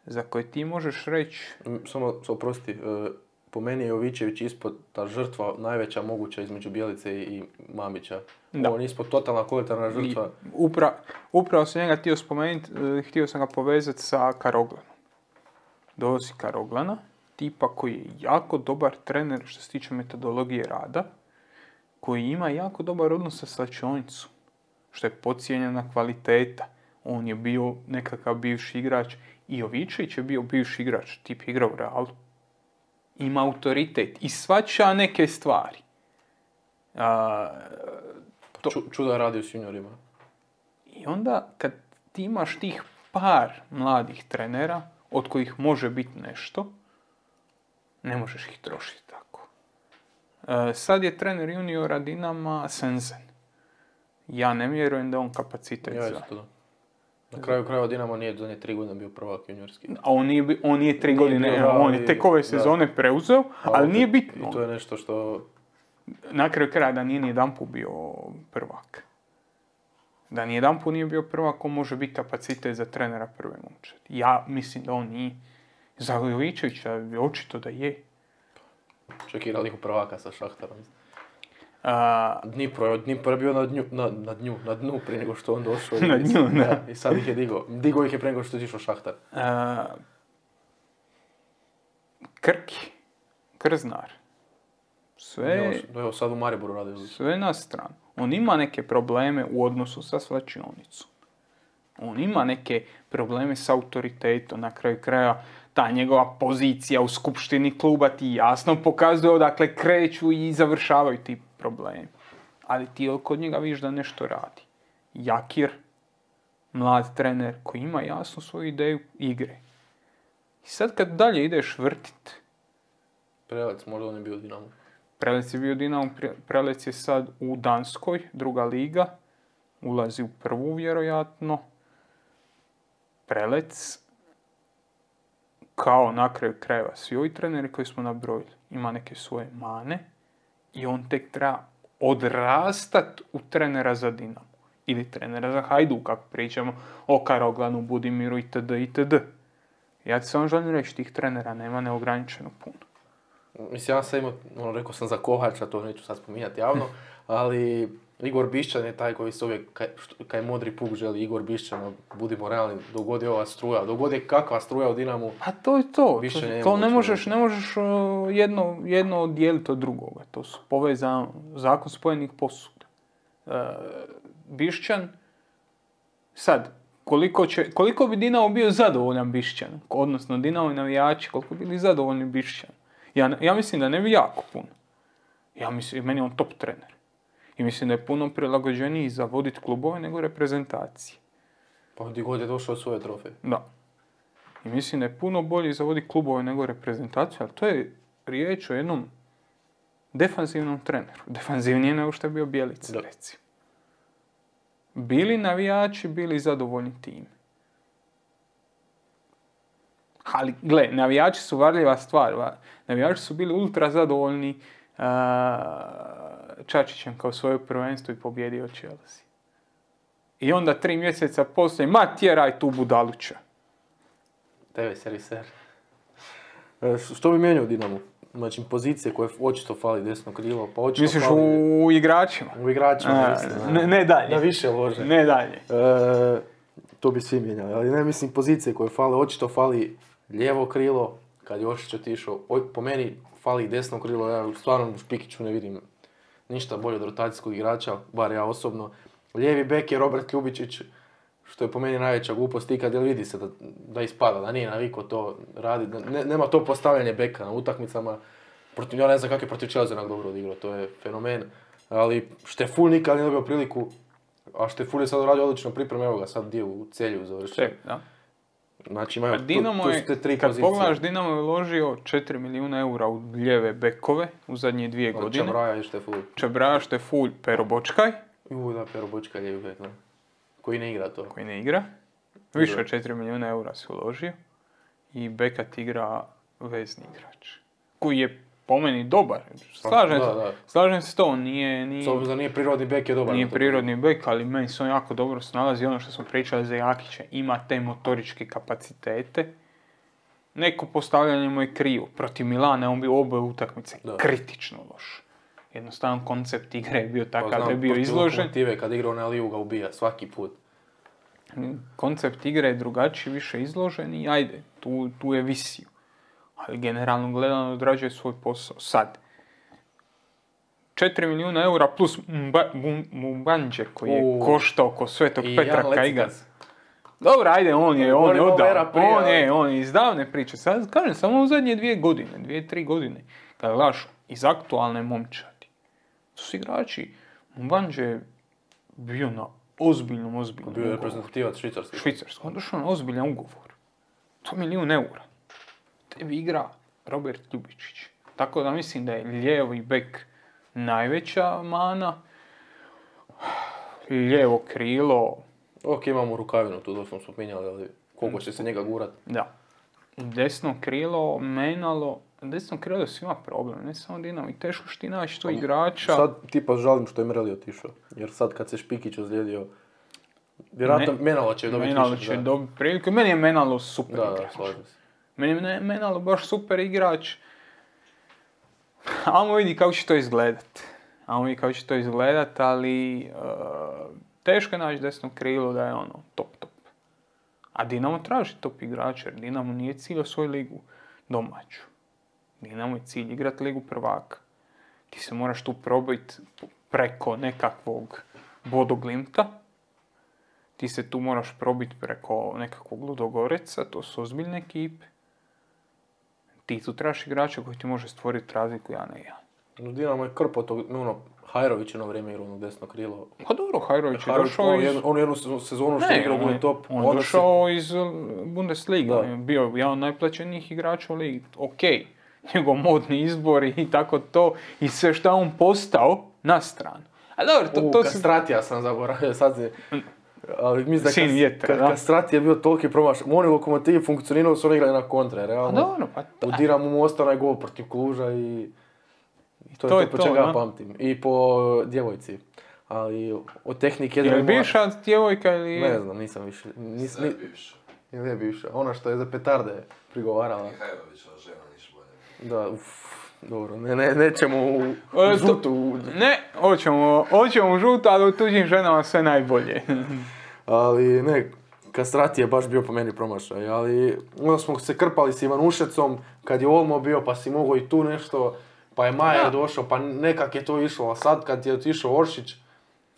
za koje ti možeš reći... Samo oprosti, po meni je Jovićević ispod ta žrtva najveća moguća između Bjelice i Mamića. Da. On je ispod totalna kolektivna žrtva. Upravo sam njega htio spomenuti, htio sam ga povezati sa Karoglanom. Dolazi Karoglana, tipa koji je jako dobar trener što se tiče metodologije rada, koji ima jako dobar odnos sa slačionicom, što je podcijenjena kvaliteta. On je bio nekakav bivši igrač i Jovićević je bio bivši igrač, tip igra u Realu. Ima autoritet i shvaća neke stvari. Čuda radi u seniorima. I onda kad ti imaš tih par mladih trenera, od kojih može biti nešto, ne možeš ih trošiti tako. Sad je trener juniora Dinama Senzen. Ja ne vjerujem da on kapacitet za... Na kraju krajeva Dinamo nije zadnje 3 godine bio prvak juniorski. A on nije 3 godine, on je tek ove sezone preuzeo, ali nije bitno. I to je nešto što... Na kraju kraja da nije nijedanput bio prvak. Da nijedanput nije bio prvak, on može biti kapacitet za trenera prve momčadi. Ja mislim da on nije. Za Jovićevića je očito da je. Čekira ligu prvaka sa Šahtarom. Dnipro je bio na dnu prije nego što on došao. Na dnu, da. I sad ih je digao. Digao ih je prije nego što je išao Šahtar. Krki, Krznar. Sve... Evo sad u Mariboru radi. Sve na stranu. On ima neke probleme u odnosu sa slačionicom. On ima neke probleme s autoritetom. Na kraju kraja ta njegova pozicija u skupštini kluba ti jasno pokazuje odakle kreću i završavaju ti problemi. Ali ti kod njega vidiš da nešto radi. Jakir, mlad trener koji ima jasnu svoju ideju igre. I sad kad dalje ideš vrtit... Prelec, možda on je bio Dinamo. Prelec je bio Dinamo, Prelec je sad u Danskoj, druga liga. Ulazi u prvu vjerojatno. Prelec, kao na kraju krajeva, svi ovi treneri koji smo nabrojili, ima neke svoje mane i on tek treba odrastat u trenera za Dinamo. Ili trenera za Hajduk, kako pričamo o Karoglanu, Budimiru itd. itd. Ja ti samo želim reći, tih trenera nema neograničeno puno. Mislim, ja sam imao, rekao sam za Kovača, to neću sad spominjati javno, ali Igor Bišćan je taj koji se uvijek, kaj modri puk želi, Igor Bišćan, budimo realni, dogod je ova struja, dogod je kakva struja u Dinamu. A to je to, to ne možeš jedno oddijeliti od drugoga, to su povezano, zakon spojenih posuda. Bišćan, sad, koliko bi Dinamo bio zadovoljan Bišćan, odnosno Dinamo i navijači, koliko bi bili zadovoljni Bišćan? Ja mislim da ne bi jako puno. Ja mislim, meni je on top trener. I mislim da je puno prilagođeniji za voditi klubove nego reprezentacije. Pa gdje god je došao svoje trofeje. Da. I mislim da je puno bolje za voditi klubove nego reprezentaciju, ali to je riječ o jednom defanzivnom treneru. Defanzivnije nego što je bio Bjelica, recimo. Bili navijači, bili zadovoljni tim. Ali, gle, navijači su varljiva stvar. Navijači su bili ultra zadovoljni Čačićem kao svoje prvenstvo i pobjedio Chelsea. I onda 3 mjeseca poslije, ma tjeraj tu budaluća. TV seriser. Što bi mijenjao Dinamo? Znači, pozicije koje očito fali desno krilo, pa očito misliš fali... u igračima? U igračima, mislim. Ne dalje. Da više lože. Ne dalje. To bi svi mijenjali, ali ne mislim pozicije koje fale, očito fali lijevo krilo, kad je Oršić otišao. Po meni fali desno krilo, ja stvarno u Špikiću ne vidim ništa bolje od rotacijskog igrača, bar ja osobno. Lijevi bek je Robert Ljubičić, što je po meni najveća glupost ikad, jer vidi se da ispada, da nije navikao to raditi. Nema to postavljanje beka na utakmicama. Ja ne znam kako je protiv Chelsea dobro odigrao, to je fenomen. Ali Šteful nikad nije dobio priliku, a Šteful je sad uradio odlično pripremu, evo ga sad dio u Celju završio. Da. Znači imaju tu su te 3 pozicije. Kad pogledaš, Dinamo je uložio 4 milijuna eura u lijeve bekove u zadnje 2 godine. Čabraja i Šteful. Čabraja, Šteful, Pero Bočkaj. Da, Pero Bočkaj lijevi bek, da. Koji ne igra to. Koji ne igra. Više od 4 milijuna eura se uložio. I bekat igra vezni igrač. Koji je po meni dobar. Slažem se s to, nije... S obzirom da nije prirodni bek je dobar. Nije prirodni bek, ali meni se on jako dobro snalazi. Ono što smo pričali za Jakića, ima te motoričke kapacitete. Neko postavljanje mu je krivo. Protiv Milana on bio oboje utakmice kritično loš. Jednostavno koncept igre je bio takav da je bio izložen. Lokomotive kad igrao na Liju ga ubija svaki put. Koncept igre je drugačiji, više izložen i ajde, tu je visio. Ali generalno gledano odrađuje svoj posao. Sad, 4 milijuna eura plus Mbanđe koji je koštao oko Svetog Petra Kajga. Dobro, ajde, on je iz davne priče. Sad, kažem, samo u zadnje 2-3 godine, kada gledaš iz aktualne momčadi, to su igrači. Mbanđe je bio na ozbiljnom ugovoru. Bio je reprezentativac Švicarske. On došao na ozbiljan ugovor. To je 1 milijun eura. Tebi igra Robert Ljubičić. Tako da mislim da je lijevi bek najveća mana. Lijevo krilo... Ok, imamo Rukavinu, tu da smo spominjali, ali koliko će se njega gurat. Da. Desno krilo, Menalo... Desno krilo je svima problem, ne samo Dinamo. I teško što ti naći to igrača. Sad tipa žalim što je Mreli otišao. Jer sad kad se Špikić ozlijedio, vjerojatno Menalo će dobiti Menalo će dobiti priliku. Meni je Menalo super igrač. Slažem se. Meni je Menalo baš super igrač. Ajmo vidi kako će to izgledat. Ali teško je naći desno krilo da je ono top. A Dinamo traži top igrača jer Dinamo nije cilj svoju ligu domaću. Dinamo je cilj igrati ligu prvaka. Ti se moraš tu probiti preko nekakvog Bodoglimta. Ti se tu moraš probiti preko nekakvog Ludogoreca, to su ozbiljne ekipe. Ti tu trebaš igrača koji ti može stvoriti razliku 1-1. Dinamo je krpo tog, Hajrović jedno vrijeme igrao desno krilo. Pa dobro, Hajrović je došao iz... On jednu sezonu što je igrao u top. On je došao iz Bundesliga, on je bio jedan od najplaćenijih igrača u ligi. Okej, njegov modni izbor i tako to, i sve što je on postao na stranu. A dobro, to Kastratija sam zaboravio, sad se... Ali mislim da Kastratija je bio toliki promaš. Oni Lokomotivi funkcionirali su oni igrali na kontre, realno. Dobro, pa u Dinamu mu ostao onaj gol protiv Kluža i to je to po čega ja pamtim. I po djevojci. Ali od tehnike... Je li bivša djevojka ili... Ne znam, nisam više. Sve je bivša. Ili je bivša. Ona što je za petarde prigovarala. Mihajlovićeva žena, niš bolje. Da, dobro, nećemo u žutu. Ne, hoćemo u žutu, ali u tuđim ženama sve najbolje. Ali ne, Kastrat je baš bio po meni promašaj, ali onda smo se krpali s Ivanušecom, kad je Olmo bio pa si mogao i tu nešto, pa je Majer došao, pa nekak je to išlo, a sad kad je otišao Oršić,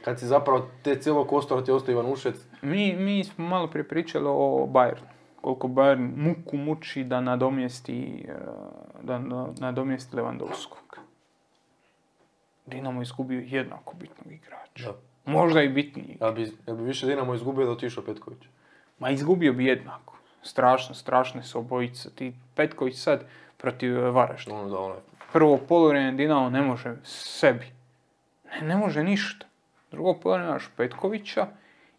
kad si zapravo te cijelog kostora ti ostao Ivanušec. Mi smo malo prije pričali o Bayernu. Koliko Bayern muku muči da nadomjesti Lewandowskog. Dinamo izgubio jednako bitnog igrača. Da. Možda i bitniji. Jel bi više Dinamo izgubio da otišao Petković? Ma izgubio bi jednako. Strašne su obojice. Ti Petković sad protiv Varaždina. Prvo poluvrijeme Dinamo ne može sebi. Ne može ništa. Drugo poluvrijeme imaš Petkovića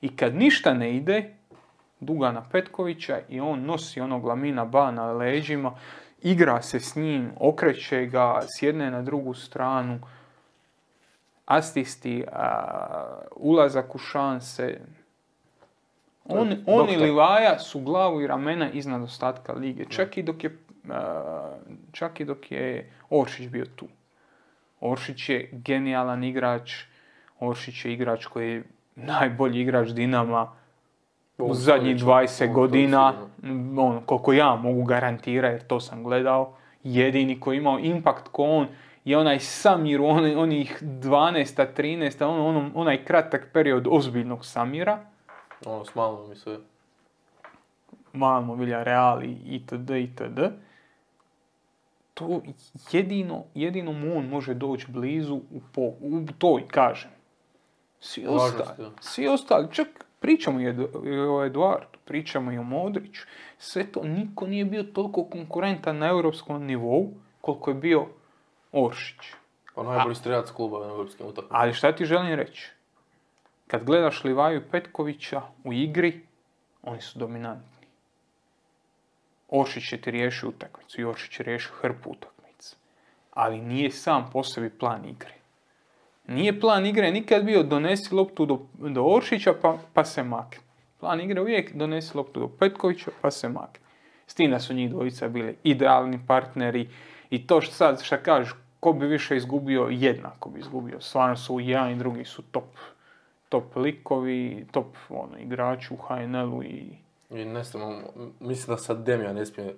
i kad ništa ne ide, Dugana Petkovića i on nosi onog Lamina Ba na leđima, igra se s njim, okreće ga s jedne na drugu stranu, asisti, ulazak u šanse. On i Livaja su glavu i ramena iznad ostatka lige. Čak i dok je Oršić bio tu. Oršić je genijalan igrač. Oršić je igrač koji je najbolji igrač Dinama u zadnjih 20 godina. Koliko ja mogu garantirati, jer to sam gledao. Jedini koji je imao impakt ko on je onaj Samir, onih 12. 13. Onaj kratak period ozbiljnog Samira. S Malmom i sve. Malmo, Villarreal itd. To jedino mu on može doći blizu u toj, kažem. Svi ostali, čak pričamo i o Eduardu, pričamo i o Modriću. Sve to, niko nije bio toliko konkurentan na europskom nivou koliko je bio Oršić. Najbolji strelac kluba na europskim utakmicama. Ali šta ti želim reći? Kad gledaš Livaju i Petkovića u igri, oni su dominantni. Oršić će ti riješiti utakmicu i Oršić će riješiti hrpu utakmicu. Ali nije sam po sebi plan igre. Nije plan igre nikad bio donesi loptu do Oršića pa se makne. Plan igre uvijek donesi loptu do Petkovića pa se makne. S tim da su njih dvojica bili idealni partneri i to šta kažeš, ko bi više izgubio, jednako bi izgubio. Stvarno su jedan i drugi su top likovi, top igrači u HNL-u i ne znam, mislim da sad Demija ne smije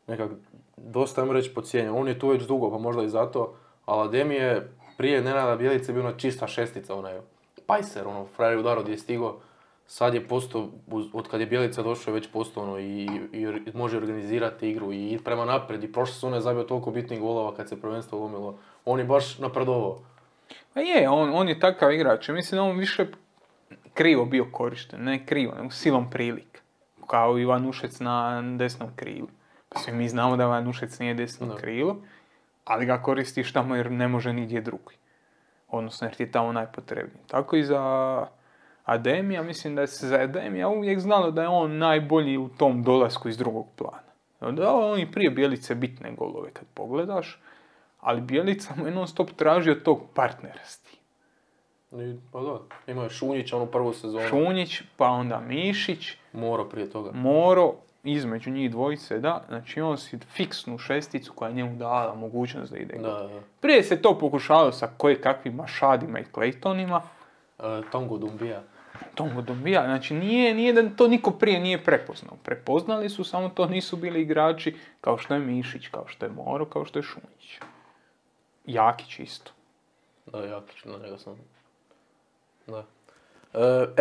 nekak, dosta im reći podcijenjen. On je tu već dugo, pa možda i zato, ali Demije je prije Nenada Bjelice bio čista šestica, pajser, frajer udaro gdje je stigo. Sad je postao, od kad je Bjelica došao, je već postao i može organizirati igru i ići prema naprijed. I prošle sezone je zabio toliko bitnih golova kad se prvenstvo lomilo. On je baš napredovao. Pa je, on je takav igrač. Mislim, on više krivo bio korišten. Ne krivo, nego silom prilika. Kao Ivan Ušec na desnom krilu. Pa svi mi znamo da Ivan Ušec nije desno krilo, ali ga koristiš tamo jer ne može nigdje drugi. Odnosno jer ti je tamo najpotrebniji. Tako i za Ademija, mislim da se za Ademija uvijek znalo da je on najbolji u tom dolasku iz drugog plana. Da on i prije Bjelice bitne golove kad pogledaš, ali Bjelica mu je non stop tražio tog partnera s tim. Pa da, imao je Šunjić onu prvu sezonu. Šunjić, pa onda Mišić. Moro prije toga. Moro, između njih dvojice, da. Znači on si fiksnu šesticu koja je njemu dala mogućnost da ide. Da. Prije se to pokušavalo sa kakvim Mašadima i Claytonima. Tongo Dumbia, znači nije da to niko prije nije prepoznao. Prepoznali su, samo to nisu bili igrači kao što je Mišić, kao što je Moro, kao što je Šunjić. Jakić isto. Da, Jakić, na njega sam. Da.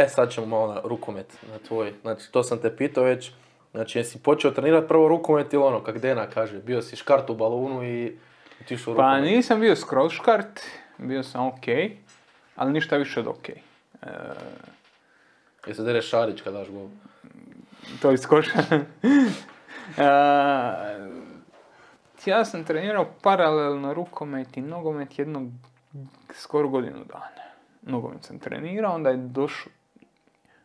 Sad ćemo malo na rukomet, na tvoj. Znači, to sam te pitao već. Znači, jesi počeo trenirati prvo rukomet ili kak Dena kaže, bio si škart u balonu i otišao u rukomet? Pa nisam bio skroz škart, bio sam okej, ali ništa više od okej. Jesi dereš Šarić kad daš gol? To iskoša. Ja sam trenirao paralelno rukomet i nogomet skoro godinu dana. Nogomet sam trenirao, onda je došao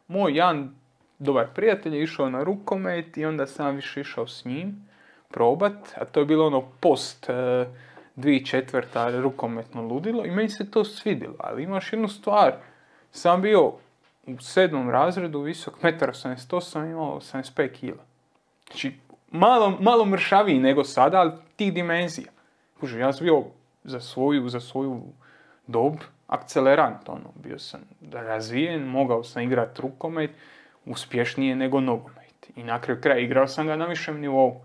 moj jedan dobar prijatelj je išao na rukomet i onda sam više išao s njim probat, a to je bilo post 2004. rukometno ludilo i meni se to svidjelo, ali imaš jednu stvar, sam bio u 7. razredu, visok 1,88 m, imao 85 kg. Znači, malo mršaviji nego sada, ali tih dimenzija. Kuži, ja sam bio za svoju dob akcelerant, bio sam razvijen, mogao sam igrati rukomet, uspješnije nego nogomet. I na kraju kraja igrao sam ga na višem nivou.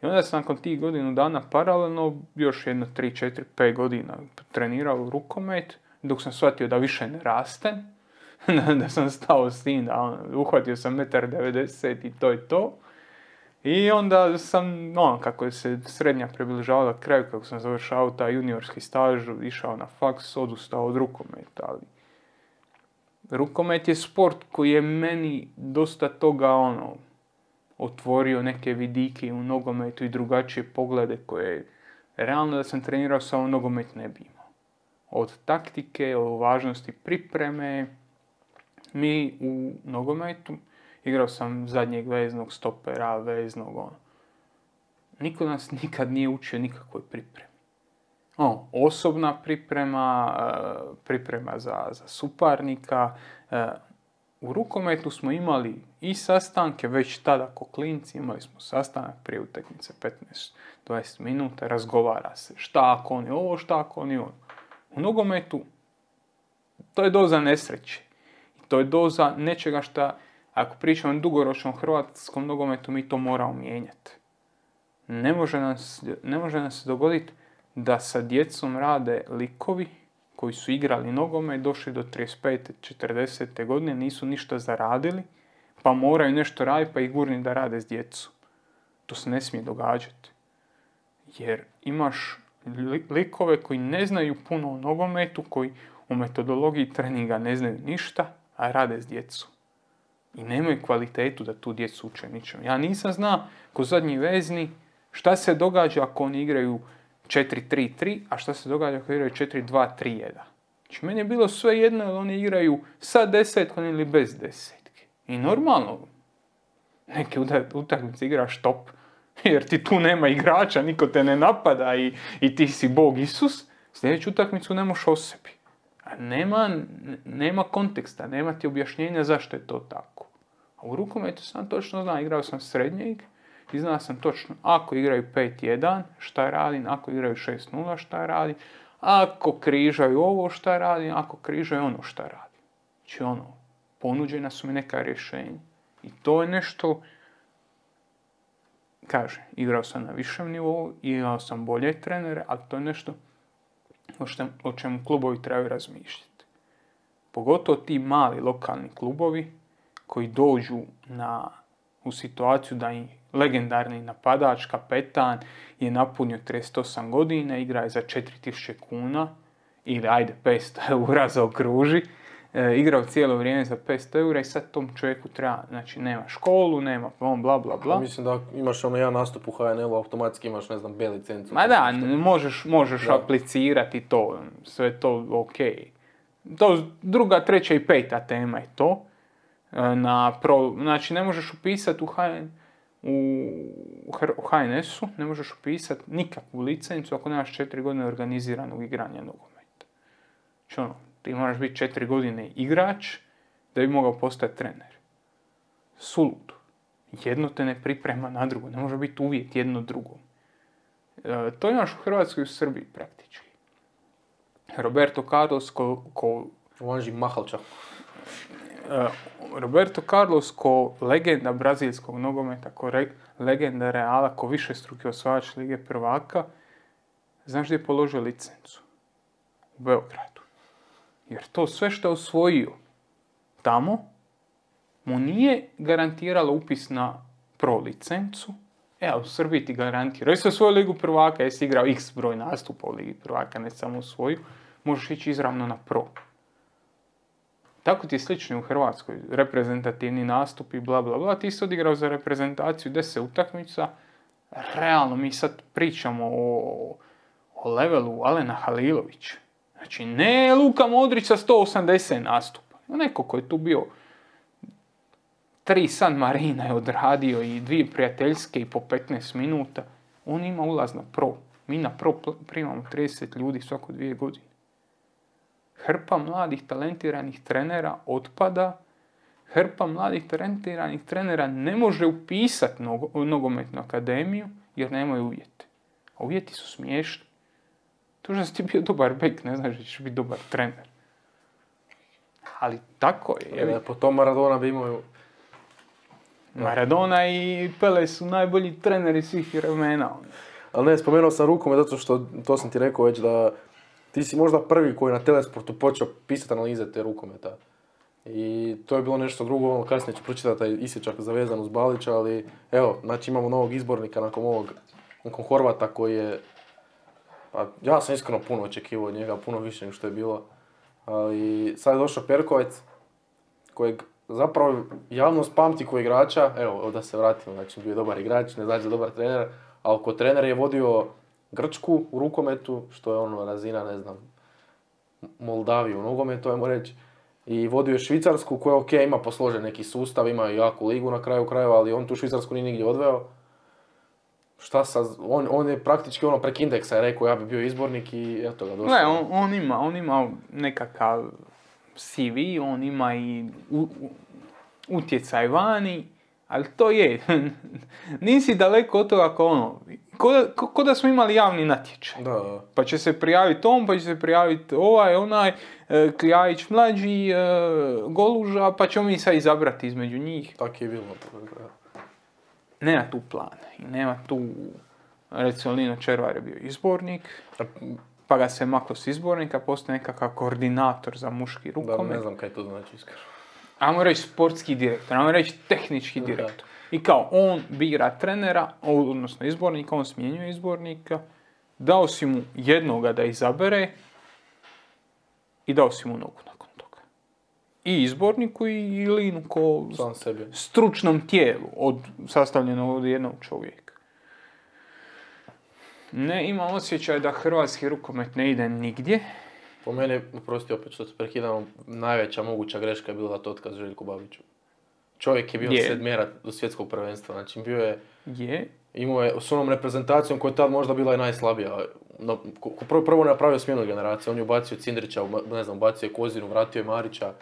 I onda sam nakon tih godinu dana paralelno, još jedno 3, 4, 5 godina trenirao rukomet, dok sam shvatio da više ne rastem, da sam stao s tim, da uhvatio sam 1,90 m i to je to. I onda sam, kako je se srednja približavala kraju, kako sam završao taj juniorski staž, išao na faks, odustao od rukometa, ali rukomet je sport koji je meni dosta toga otvorio neke vidike u nogometu i drugačije poglede koje realno da sam trenirao samo nogomet ne bi imao. Od taktike, od važnosti pripreme. Mi u nogometu, igrao sam zadnjeg veznog stopera, veznog Niko nas nikad nije učio nikakvoj pripremi. Osobna priprema, priprema za suparnika. U rukometu smo imali i sastanke, već tada ko klinci, imali smo sastanak prije utakmice 15-20 minuta, razgovara se šta ako on je ovo, šta ako on je ono. U nogometu to je doza nesreće. To je doza nečega šta, ako pričamo o dugoročnom hrvatskom nogometu, mi to moramo mijenjati. Ne može nam se dogoditi da sa djecom rade likovi koji su igrali nogomet, došli do 35. 40. godine, nisu ništa zaradili, pa moraju nešto raditi, pa ih gurni da rade s djecom. To se ne smije događati. Jer imaš likove koji ne znaju puno o nogometu, koji u metodologiji treninga ne znaju ništa, a rade s djecom. I nemaju kvalitetu da tu djecu uče ničem. Ja nisam znao, ko zadnji vezni, šta se događa ako oni igraju 4-3-3, a šta se događa ako igraju 4-2-3-1. Znači, meni je bilo sve jedno, jer oni igraju sa desetkom ili bez desetke. I normalno, neke utakmice igraš top, jer ti tu nema igrača, niko te ne napada i ti si Bog Isus, sljedeću utakmicu ne možeš o sebi. A nema konteksta, nema ti objašnjenja zašto je to tako. A u rukometu sam točno znao, igrao sam srednjeg i znao sam točno, ako igraju 5-1, šta radim, ako igraju 6-0, šta radim, ako križaju ovo, šta radim, ako križaju ono, šta radim. Znači ponuđena su mi neka rješenja. I to je nešto, igrao sam na višem nivou, imao sam bolje trenere, ali to je nešto o čemu klubovi trebaju razmišljati. Pogotovo ti mali lokalni klubovi koji dođu u situaciju da im legendarni napadač, kapetan, je napunio 38 godina, igra je za 4000 kuna, ili 500 eura zaokruži, igrao cijelo vrijeme za 500 eura i sad tom čovjeku treba, znači nema školu, nema bla bla bla. Mislim da imaš jedan nastup u HNL-u, automatski imaš, B licencu. Ma da, možeš aplicirati to, sve to ok. To druga, treća i peta tema je to. Znači ne možeš upisati u HNS-u, ne možeš upisati nikakvu licencu ako nemaš 4 godine organiziranog igranja nogometa. Znači ti moraš biti 4 godine igrač da bi mogao postati trener. Suludo. Jedno te ne priprema na drugo. Ne može biti uvjet jedno drugom. To imaš u Hrvatskoj i u Srbiji praktički. Roberto Carlos Vanži Mahalča. Roberto Carlos ko legenda brazilskog nogometa, ko legenda Reala, ko višestruki osvajač Lige prvaka, znaš gdje je položio licencu? U Beogradu. Jer to sve što je osvojio tamo, mu nije garantiralo upis na pro licencu, a u Srbiji ti garantira. Jesi osvojio Ligu prvaka, jesi igrao x broj nastupa u Ligi prvaka, ne samo svoju, možeš ići izravno na pro. Tako ti je slično u Hrvatskoj, reprezentativni nastup i bla bla bla, ti si odigrao za reprezentaciju 10 utakmica, realno mi sad pričamo o levelu Alena Halilovića. Znači ne Luka Modrić sa 180 nastupa, neko koji je tu bio 3 San Marina je odradio i 2 prijateljske i po 15 minuta, on ima ulaz na pro. Mi na pro primamo 30 ljudi svako 2 godine. Hrpa mladih talentiranih trenera otpada, hrpa mladih talentiranih trenera ne može upisati nogometnu akademiju jer nemaju uvjete. A uvjeti su smiješni. To što si ti bio dobar bek, ne znaš da ćeš biti dobar trener. Ali tako je. Po tom Maradona bi imao... Maradona i Pele su najbolji treneri svih vremena. Ali ne, spomenuo sam rukomet zato što, to sam ti rekao već, da ti si možda prvi koji na Telesportu počeo pisati analize te rukometa. I to je bilo nešto drugo, kasnije ću pročitati taj isječak zavezan uz Balića, ali evo, znači imamo novog izbornika nakon Horvata koji je... Pa, ja sam iskreno puno očekivao od njega, puno više nego što je bilo. Ali sad je došao Perkovec kojeg zapravo javnost pamti kao igrača, evo da se vratimo, znači bio je dobar igrač, ne znači dobar trener, ali kao trener je vodio Grčku u rukometu, što je ono razina, ne znam, Moldaviju u nogometu, ajmo reći. I vodio je Švicarsku koja ok, ima posložen neki sustav, ima i jaku ligu na kraju krajeva, ali on tu Švicarsku nije nigdje odveo. Šta sad, on je praktički ono prek indeksa je rekao ja bi bio izbornik i eto ga došao. Ne, on ima nekakav CV, on ima i utjecaj vani, ali to je, nisi daleko od toga kao ono, ko da smo imali javni natječaj. Da. Pa će se prijaviti on, pa će se prijaviti onaj, Kljajić mlađi, Goluža, pa ćemo mi sad izabrati između njih. Tako je bilo. Nema tu plana i nema tu, recimo Lino Červar je bio izbornik, pa ga se maklo s izbornika, postoje nekakav koordinator za muški rukomet. Da, ne znam kaj to znači iskreno. Ajmo reći sportski direktor, ajmo reći tehnički direktor. I kao on bira trenera, odnosno izbornika, on smjenjuje izbornika, dao si mu jednoga da izabere i dao si mu nogu nakon toga. I izborniku i Linu ko sam sebi. Stručnom tijelu, sastavljeno od jednog čovjeka. Ne, imam osjećaj da hrvatski rukomet ne ide nigdje. Po mene, prosti opet što se prekidamo, najveća moguća greška je bila da to otkaz Željku Babiću. Čovjek je bio sedmjera do svjetskog prvenstva, znači bio je. Imao je s onom reprezentacijom koja je tad možda bila i najslabija. Prvo napravio smjenu generacije, on je ubacio Cindrića, ne znam, ubacio je Kozinu, vratio je Marića,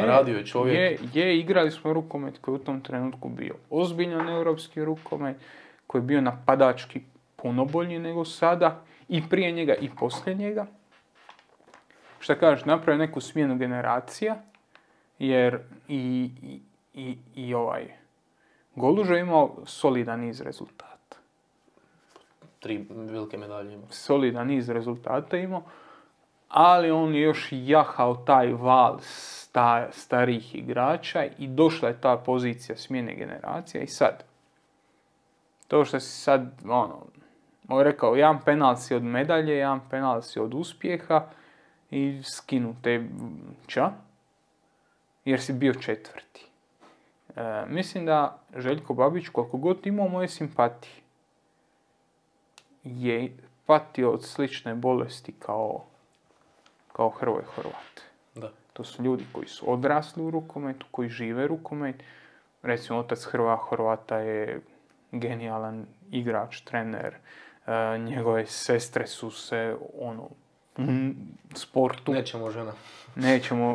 radio je čovjek. Igrali smo rukomet koji je u tom trenutku bio ozbiljan europski rukomet, koji je bio napadački puno bolji nego sada, i prije njega i poslije njega. Šta kažeš, napravio neku smjenu generacija, jer i Golužo je imao solidan niz rezultata. 3 velike medalje imao. Solidan niz rezultata imao, ali on je još jahao taj val starih igrača i došla je ta pozicija smjene generacija i sad. To što si sad, rekao, jedan penal si od medalje, jedan penal si od uspjeha i skinu te jer si bio četvrti. Mislim da Željko Babić, koliko god imao moje simpatije, je patio od slične bolesti kao Hrvoje Horvat. Da. To su ljudi koji su odrasli u rukometu, koji žive rukomet. Recimo, otac Hrvoja Horvata je genijalan igrač, trener. Njegove sestre su se sportu. Nećemo žena.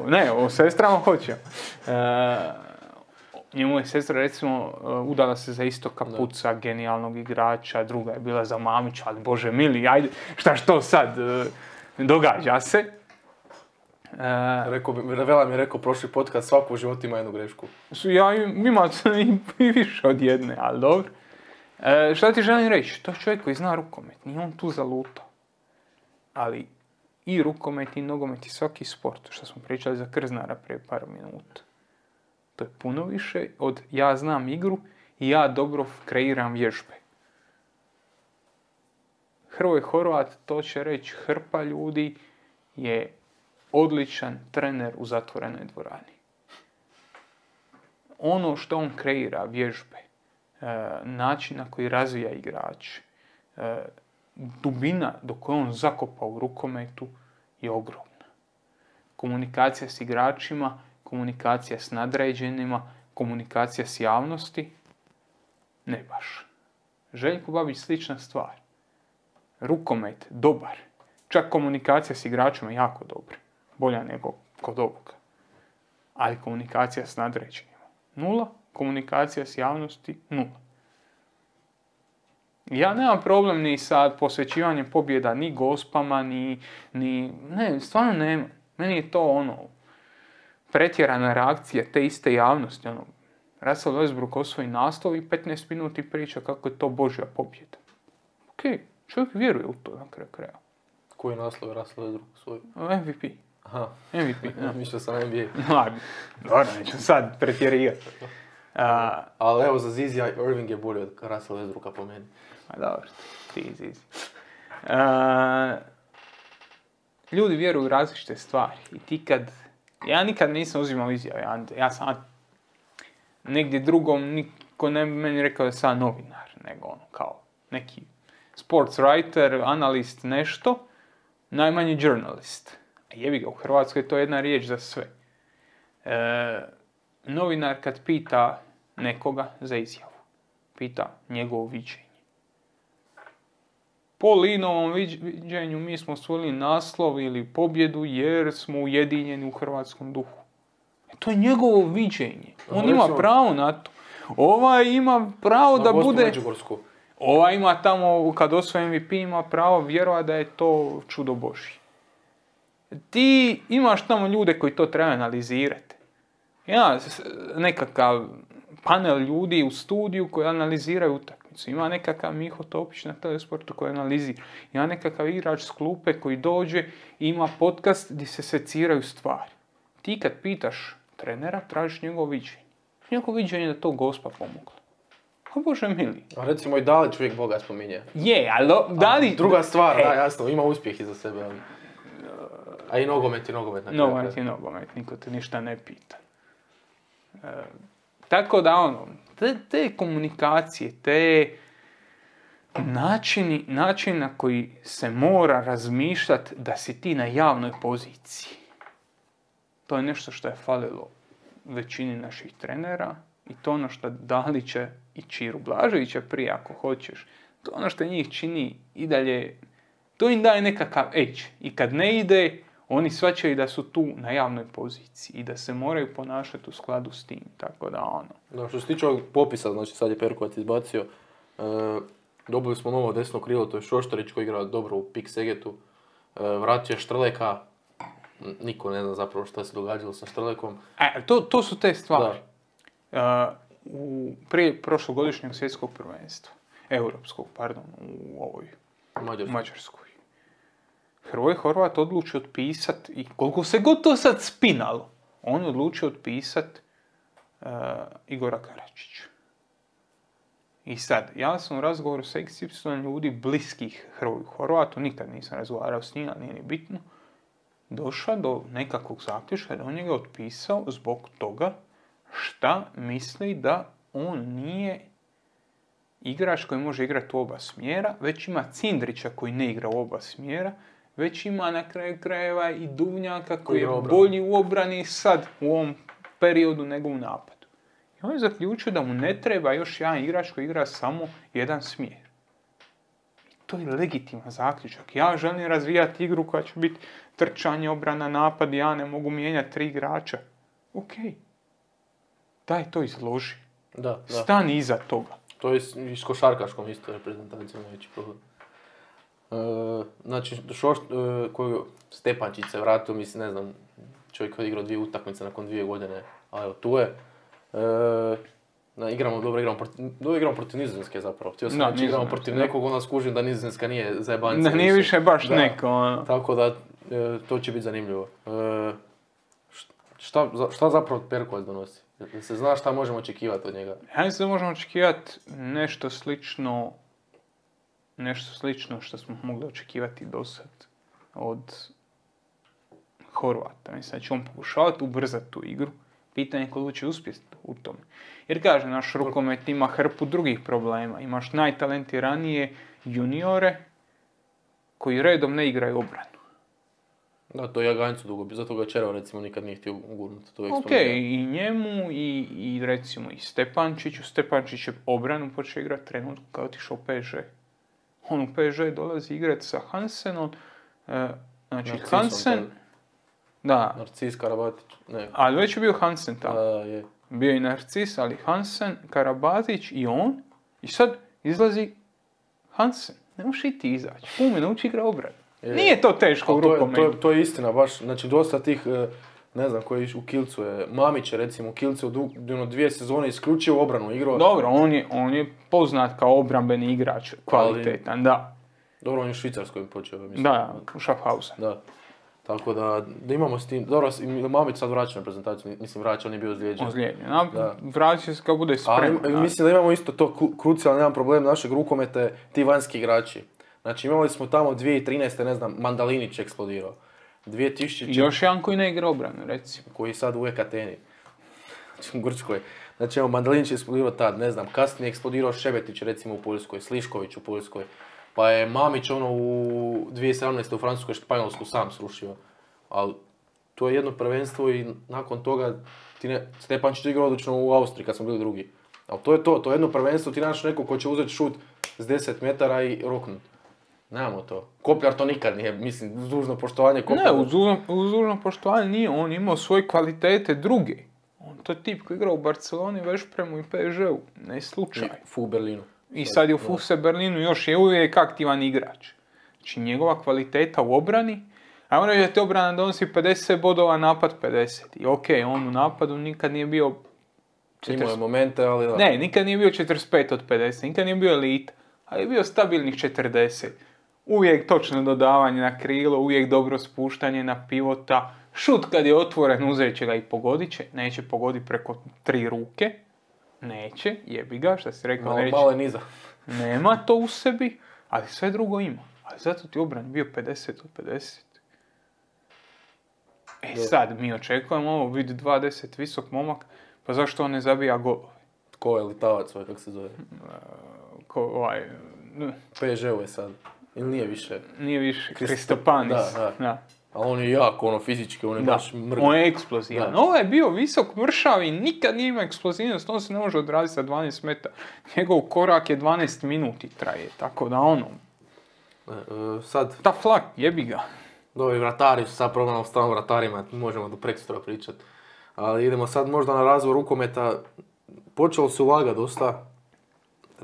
Ne, o sestrama hoćemo. Njemu je sestra, recimo, udala se za Istoka Puca, genijalnog igrača, druga je bila za Mamića, ali Bože mili, ajde, što sad događa se. Vela mi je rekao prošli podcast, svako u životu ima jednu grešku. Ima i više od jedne, ali dobro. Šta ti želim reći? To je čovjek koji zna rukomet, nije on tu zalutao. Ali i rukomet i nogomet i svaki sport, što smo pričali za Krznara prije par minuta. To je puno više od ja znam igru i ja dobro kreiram vježbe. Hrvoje Horvat, to će reći hrpa ljudi, je odličan trener u zatvorenoj dvorani. Ono što on kreira, vježbe, način na koji razvija igrač, dubina do koje on zakopa u rukometu je ogromna. Komunikacija s igračima, komunikacija s nadređenima, komunikacija s javnosti, ne baš. Željko Babić slična stvar. Rukomet, dobar. Čak komunikacija s igračima jako dobra. Bolja nego kod ovoga. Ali komunikacija s nadređenima 0, komunikacija s javnosti 0. Ja nemam problem ni sa posvećivanjem pobjeda, ni gospama, ne, stvarno nema. Meni je to pretjerana reakcija te iste javnosti. Russell Westbrook osvoji naslov i 15 minuti priča kako je to Božja pobjeda. Ok, čovjek vjeruje u to na kraju kraja. Koji je naslov Russell Westbrook osvojio? MVP. Aha. MVP. Mišljao sam NBA. Dobro, neću sad pretjerivati. Ali evo, za Zizi Irving je bolji od Russell Westbrooka po meni. Dobro, ti Zizi. Ljudi vjeruju u različite stvari i ti kad Ja nikad nisam uzimao izjave. Ja sam negdje drugom, niko ne bi meni rekao da sam novinar, nego ono, kao neki sports writer, analist, nešto, najmanji journalist. Jebi ga, u Hrvatskoj je to jedna riječ za sve. Novinar kad pita nekoga za izjavu, pita njegovo viđenje. Po Linovom viđenju mi smo osvojili naslov ili pobjedu jer smo ujedinjeni u hrvatskom duhu. To je njegovo viđenje. On ima pravo na to. Ovaj ima pravo da bude... Ovaj ima tamo, kad osvoji MVP, ima pravo vjerovati da je to čudo Božje. Ti imaš tamo ljude koji to treba analizirati. Ima nekakav panel ljudi u studiju koji analiziraju utakmicu. Ima nekakav Miho Topić na Telesportu koji analizira. Ima nekakav igrač s klupe koji dođe i ima podcast gdje se seciraju stvari. Ti kad pitaš trenera, tražiš njegovo viđenje. Njegovo viđenje da to Gospa pomogla. A Bože mili. A recimo i Dalić uvijek Boga spominje. Je, ali Dalić... Druga stvar, da, jasno, ima uspjeh iza sebe. Ali... A i nogomet. Nogomet, niko te ništa ne pita. Tako da te komunikacije, te način na koji se mora razmišljati da si ti na javnoj poziciji. To je nešto što je falilo većini naših trenera i to ono što Dalića i Čiru Blaževića prije ako hoćeš. To ono što njih čini i dalje, to im daje nekakav edge. I kad ne ide, oni shvaćaju da su tu na javnoj poziciji i da se moraju ponašati u skladu s tim, tako da ono. Da, što se tiče ovog popisa, znači sad je Perkovac izbacio, dobili smo novo desno krilo, to je Šoštarić koji igra dobro u Pik Segetu, vratio je Štrleka, niko ne zna zapravo šta se događalo sa Štrlekom. To su te stvari. Prije prošlogodišnjeg svjetskog prvenstva, europskog, pardon, u ovoj Mađarskoj. Hrvoje Horvat odlučio otpisati, i koliko se god to sad spinalo, on je odlučio otpisati Igora Karačića. I sad, ja sam u razgovoru sa XY ljudi bliskih Hrvoju Horvatu, nikad nisam razgovarao s njima, nije ni bitno, došao do nekakvog zaključka da on njega otpisao zbog toga šta misli da on nije igrač koji može igrati u oba smjera, već ima Cindrića koji ne igra u oba smjera, već ima na kraju krajeva i Duvnjaka koji je bolji u obrani sad u ovom periodu nego u napadu. I on je zaključio da mu ne treba još jedan igrač koji igra samo jedan smjer. I to je legitiman zaključak. Ja želim razvijati igru koja će biti trčanje, obrana, napad, ja ne mogu mijenjati 3 igrača. Ok. Daj to izloži. Da. Stani iza toga. To je i s košarkaškom isto reprezentacijom veći problem. Znači, koju Stepančić se vratio, mislim, ne znam, čovjek koji je igrao 2 utakmice nakon 2 godine, ali evo, tu je. Dobro igramo protiv Nizozemske zapravo. Htio sam reći, igramo protiv nekog, onda skužim da Nizozemska nije zajebanca. Da nije više baš neko. Tako da, to će biti zanimljivo. Šta zapravo Perkovac donosi? Da se zna šta možemo očekivati od njega? Ja mislim da možemo očekivati nešto slično što smo mogli očekivati do sad od Horvata. Mislim da će on pokušavati ubrzati tu igru. Pitanje je koliko će uspjeti u tome. Jer kaže, naš rukomet ima hrpu drugih problema. Imaš najtalentiranije juniore koji redom ne igraju obranu. Da, to je Jaganjcu dugo, zato ga Červa recimo nikad nije htio ugurnuti. Ok, i njemu i recimo i Stepančiću. Stepančić je obranu počeo igrati trenutku kad je otišao u PSG. On u PSG dolazi igrati sa Hansenom. Znači Narcisom, Hansen... Da. Narcis, Karabatić, ne. Ali već je bio Hansen tamo. Je. Bio je Narcis, ali Hansen, Karabatić i on. I sad izlazi Hansen. Ne možeš i ti izaći. Pume, nauči igra obranu. Nije to teško u rukometu. To je istina, baš. Znači, dosta tih, ne znam, koji u Kilcu je, Mamić je recimo u Kilcu 2 sezone isključivo obranu igrao. Dobro, on je poznat kao obrambeni igrač, kvalitetan, da. Dobro, on je u Švicarskoj počeo, mislim. Da, u Schaffhausen. Da. Tako da imamo s tim, dobro, Mamić sad vraća na prezentaciju, mislim vraća, on je bio ozlijeđen. Vraća se kao bude spreman. Ali mislim da imamo isto to krucijalno, jedan problem našeg rukometa je ti vanjski igrači. Znači imali smo tamo 2013. ne znam, Mandalinić eksplodirao. I 2004. još jedan koji ne igra obranu, recimo. Koji je sad u Ekateni. Znači u Grčkoj. Znači evo, Mandalinić je eksplodirao tad, ne znam, kasnije je eksplodirao Šebetić recimo u Poljskoj, Slišković u Poljskoj. Pa je Mamić u 2017. u Francuskoj Španjolsku sam srušio. Ali to je jedno prvenstvo i nakon toga Stepančić je igrao odlično u Austriji kad smo bili drugi. Ali to je to je jedno prvenstvo, ti naš neko ko će uzeti šut s 10 metara i roknut. Nemamo to. Kopljar to nikad nije, mislim, uz dužno poštovanje Kopljara. Ne, uz dužno poštovanje nije, on imao svoje kvalitete druge. On to je tip koji igra u Barceloni, Vešpremu i PSG-u, ne slučaj. U Berlinu. I sad je u Fuse Berlinu, još je uvijek aktivan igrač. Znači njegova kvaliteta u obrani, ajmo reći da ti obrana donosi 50 bodova, napad 50. I okej, on u napadu nikad nije bio... Imao je momente, ali da. Ne, nikad nije bio 45 od 50, nikad nije bio elita, ali je bio stabilnih 40. Uvijek točno dodavanje na krilo, uvijek dobro spuštanje na pivota. Šut kad je otvoren uzet će ga i pogodit će, neće pogoditi preko 3 ruke. Neće, jebi ga, šta si rekao, neće. Malo je niza. Nema to u sebi, ali sve drugo ima. Ali zato ti obran bio 50 od 50. Sad mi očekujemo ovo, vidi 2.10 visok momak, pa zašto on ne zabija golove? Ko je Litavac, kako se zove? PSG-u je sad. Ili nije više? Nije više, Kristopanis. Da. Ali on je jako, fizički, on je baš mrgav. On je eksplozivan. Ovo je bio visok, mršav i nikad nije imao eksplozivnost, on se ne može odraziti sa 12 metara. Njegov korak je 12 minuti traje, tako da Sad... Ta flak, jebi ga. Ovi vratari su sad progledamo stalno vratarima, možemo do prekstora pričati. Ali idemo sad možda na razvoj rukometa. Počelo se ulagati dosta,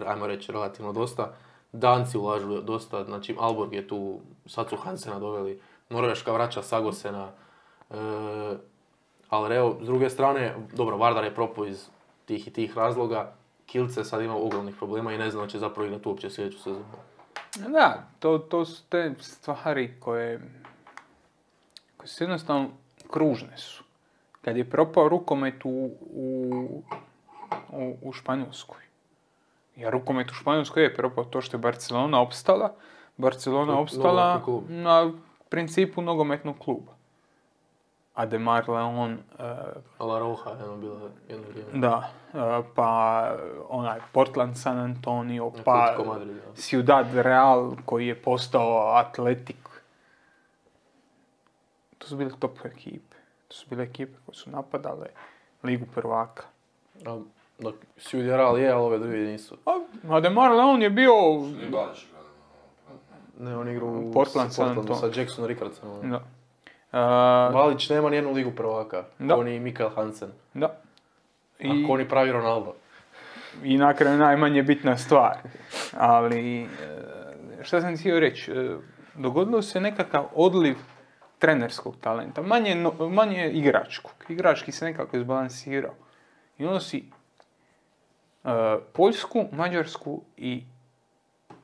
ajmo reći relativno dosta. Danci ulažu dosta, znači Aalborg je tu, sad su Hansena doveli, Norveška vraća Sagosena, ali evo, s druge strane, dobro, Vardar je propao iz tih i tih razloga, Kielce sad ima ogromnih problema i ne znam da će zapravo igrati uopće sljedeću sezonu. Da, to su te stvari koje su jednostavno kružne su. Kad je propao rukomet u Španjolskoj. Jer rukomet u Španjolskoj je propao to što je Barcelona opstala. Barcelona opstala na principu nogometnog kluba. Ademar Leon... La Roja je bila jedno vrijeme. Da, pa Portland San Antonio, pa Ciudad Real koji je postao Atletik. To su bile top ekipe. To su bile ekipe koje su napadale Ligu prvaka. Ciudad Real je, ali ove druge nisu. Ademar Leon je bio... Ne, on igra u Portlandu sa Jackson Rickardsonom. Da. Valić nema nijednu ligu prvaka. Da. On i Mikael Hansen. Da. Ako oni pravi Ronaldo. I na kraju najmanje bitna stvar. Ali, šta sam htio reći, dogodilo se nekakav odliv trenerskog talenta, manje igračkog. Igrački se nekako izbalansirao. I ono si Poljsku, Mađarsku i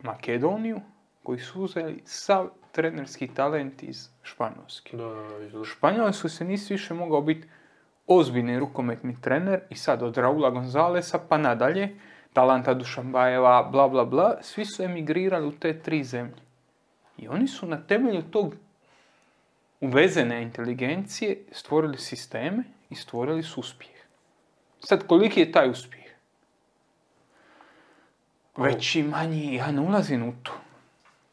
Makedoniju koji su uzeli sav trenerski talent iz Španjolske. Španjolsku se nisi više mogao biti ozbiljni rukometni trener i sad od Raula Gonzalesa pa nadalje, Talanta Dušanbajeva, bla bla bla, svi su emigrirali u te 3 zemlje. I oni su na temelju tog uvezene inteligencije stvorili sisteme i stvorili su uspjeh. Sad, koliki je taj uspjeh? Veći, manji, ja ne ulazim u to.